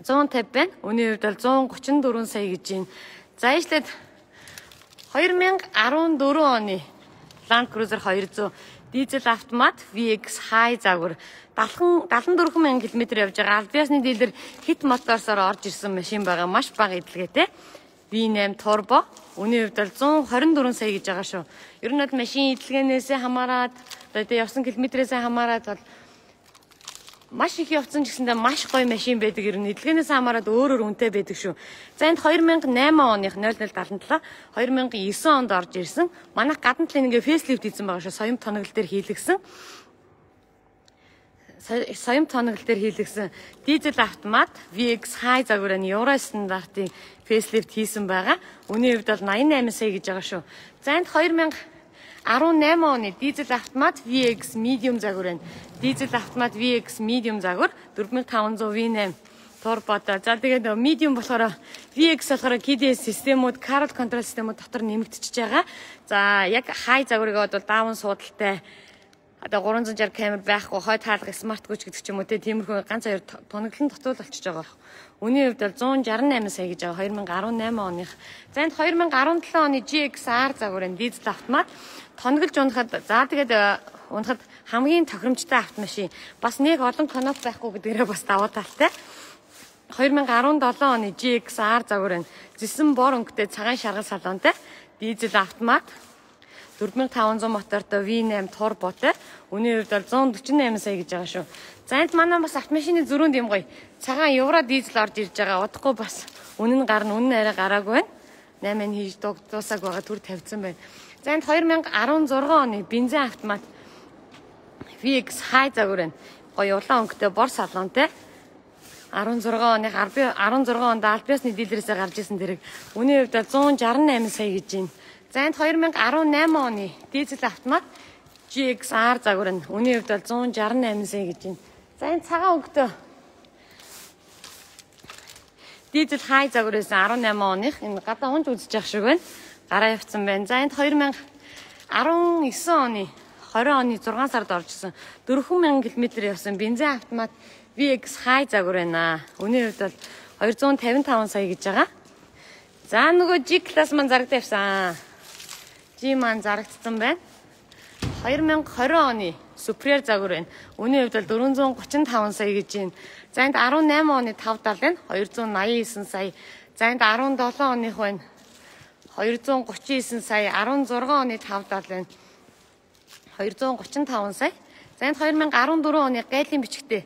150 байна. Үний хувьд бол 134 сая гэж байна. За ижлээд 2014 оны Land Cruiser 200 дизель автомат VX High загвар 74,000 км явж байгаа. Аль биесны дилер хит моторсоор орж ирсэн машин байгаа. Маш бага эдлэгээтэй. V8 turbo. Үний хувьд бол 124 сая гэж байгаа шүү. Ер нь бол машин эдлэгээнээс хамаарат одоо явсан километрээс хамаарат бол маш их явцсан ч гэсэндээ маш гоё машин байдаг. Ер нь эдлэгээнээс хамаарат өөр үнэтэй байдаг шүү. За энд 2008 оных 0077 2009 онд орж ирсэн. Манайх гадна талын ингээ фейслифт хийсэн байгаа шүү. Соём тоноглол дээр хийлгсэн. Соём тоноглол дээр хийлгсэн дизель автомат VX High загварын Euro стандартын фейслифт хийсэн байгаа. Үний хувьд бол 88 сая гэж байгаа шүү. За энд 2018 оны дизель автомат VX Medium загвар байна. Дизель автомат VX Medium загвар 4500 V8 турботой. За тэгээд Medium болохоор VX болохоор KDS системүүд, Carol control системүүд дотор нэмэгдчихэж байгаа. За яг High загварыг бол даавн суудалтай одоо 360 камер байхгүй, хойд хаалга смарт гүч гэдэг ч юм уу тиймэрхүү ганц хоёр тоноглон дотуул болчихж байгаа. Үний хувьд бол 168 сая гэж байгаа 2018 оных. За энд 2017 оны GXR загвар энэ дизель автомат тоноглож унахад за тэгээд унахад хамгийн тохиромжтой автомашин. Бас нэг олон коноп байхгүй гэдгээрээ бас давуу талтай. 2017 оны GXR загвар энэ зэсэн бор өнгөтэй цагаан шаргал салонтой дизель автомат 4500 мотортой V8 турботой. Үний хувьд бол 148 сая гэж байгаа шүү. За энд манай бас автомашины зөрүүнд юм гоё. Цагаан евро дизель орж ирж байгаа. Удахгүй бас үнэн гарна, үнэн арай гараагүй байна. 8-ын хийж дуусаг байгаа төр тавьсан байна. За энд 2016 оны бензин автомат VX High загвар байна. Гоё улаан өнгөтэй бор салонтой. 16 оных 16 онд аль биесны дилерээсээ гарч ирсэн тэрэг. Үний хувьд бол 168 сая гэж байна. За энд 2018 оны дизель автомат GXR загвар нь үний хувьд бол 168 сая гэж байна. За энэ цагаан өнгөтэй дизель High загвараас 18 оных энэ гадаа унж үзэж явах шиг байна. Гараа явцсан байна. За энд 2019 оны 20 оны 6 сард оржсэн 4000 км явсан бензин автомат VX High загвар байна. Үний хувьд бол 255 сая гэж байгаа. За нөгөө G класс маань зарагдаа явсан. G маань зарагдсан байна. 2020 оны Superior загвар байна. Үний хувьд бол 435 сая гэж байна. За энд 18 оны 570 байна. 289 сая. За энд 17 оных байна. 239 сая. 16 оны 570 байна. 235 сая. За энд 2014 оны гайлын бичгтээ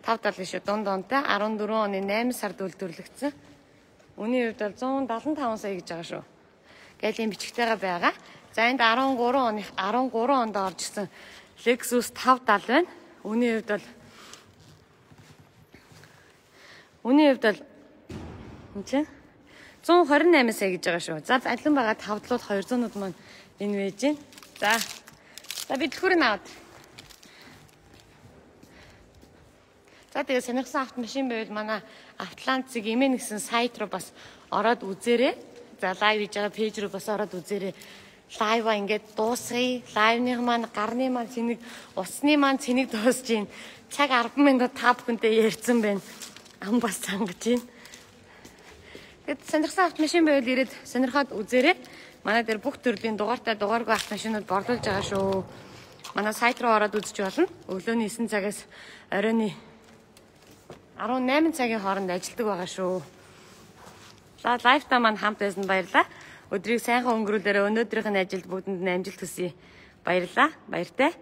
570 шүү. Дунд онтой 14 оны 8 сард үйлдвэрлэгдсэн. Үний хувьд бол 175 сая гэж байгаа шүү. Гайлын бичгтэйгээ байгаа. За энд 13 онд орж ирсэн Lexus 570 байна. Үний хувьд бол энэ чинь 128 сая гэж байгаа шүү. За алин байгаа 5-длууд 200-ууд маань энэ вэж байна. За бидлхүүрийг аваад. За тэгээ сонирхсан автомашин байвал манай Автоланцыг имэн гэсэн сайт руу бас ороод үзээрэй. За лайв хийж байгаа пэйж руу бас ороод үзээрэй. лайва ингээд дуусгая. Лайвных маань гарны маань цэник, усны маань цэник дуусж гин. Цаг 10 минут та бүхэнтэй ярьсан байна. Ам бас цангаж гин. Тэгэд сонирхсан автомашин байвал ирээд сонирхоод үзээрэй. Манай дээр бүх төрлийн дугаартай дугааргүй автомашинууд борлуулж байгаа шүү. Манай сайт руу ороод үзэж болно. Өглөөний 9 цагаас оройн 18 цагийн хооронд ажилладаг байгаа шүү. За лайфтаа маань хамт байсан баярлалаа. Өдрийг сайхан өнгөрүүлээрэй. Өнөөдрийнх нь ажилд бүгдэнд амжилт хүсье. Баярлалаа. Баяртай.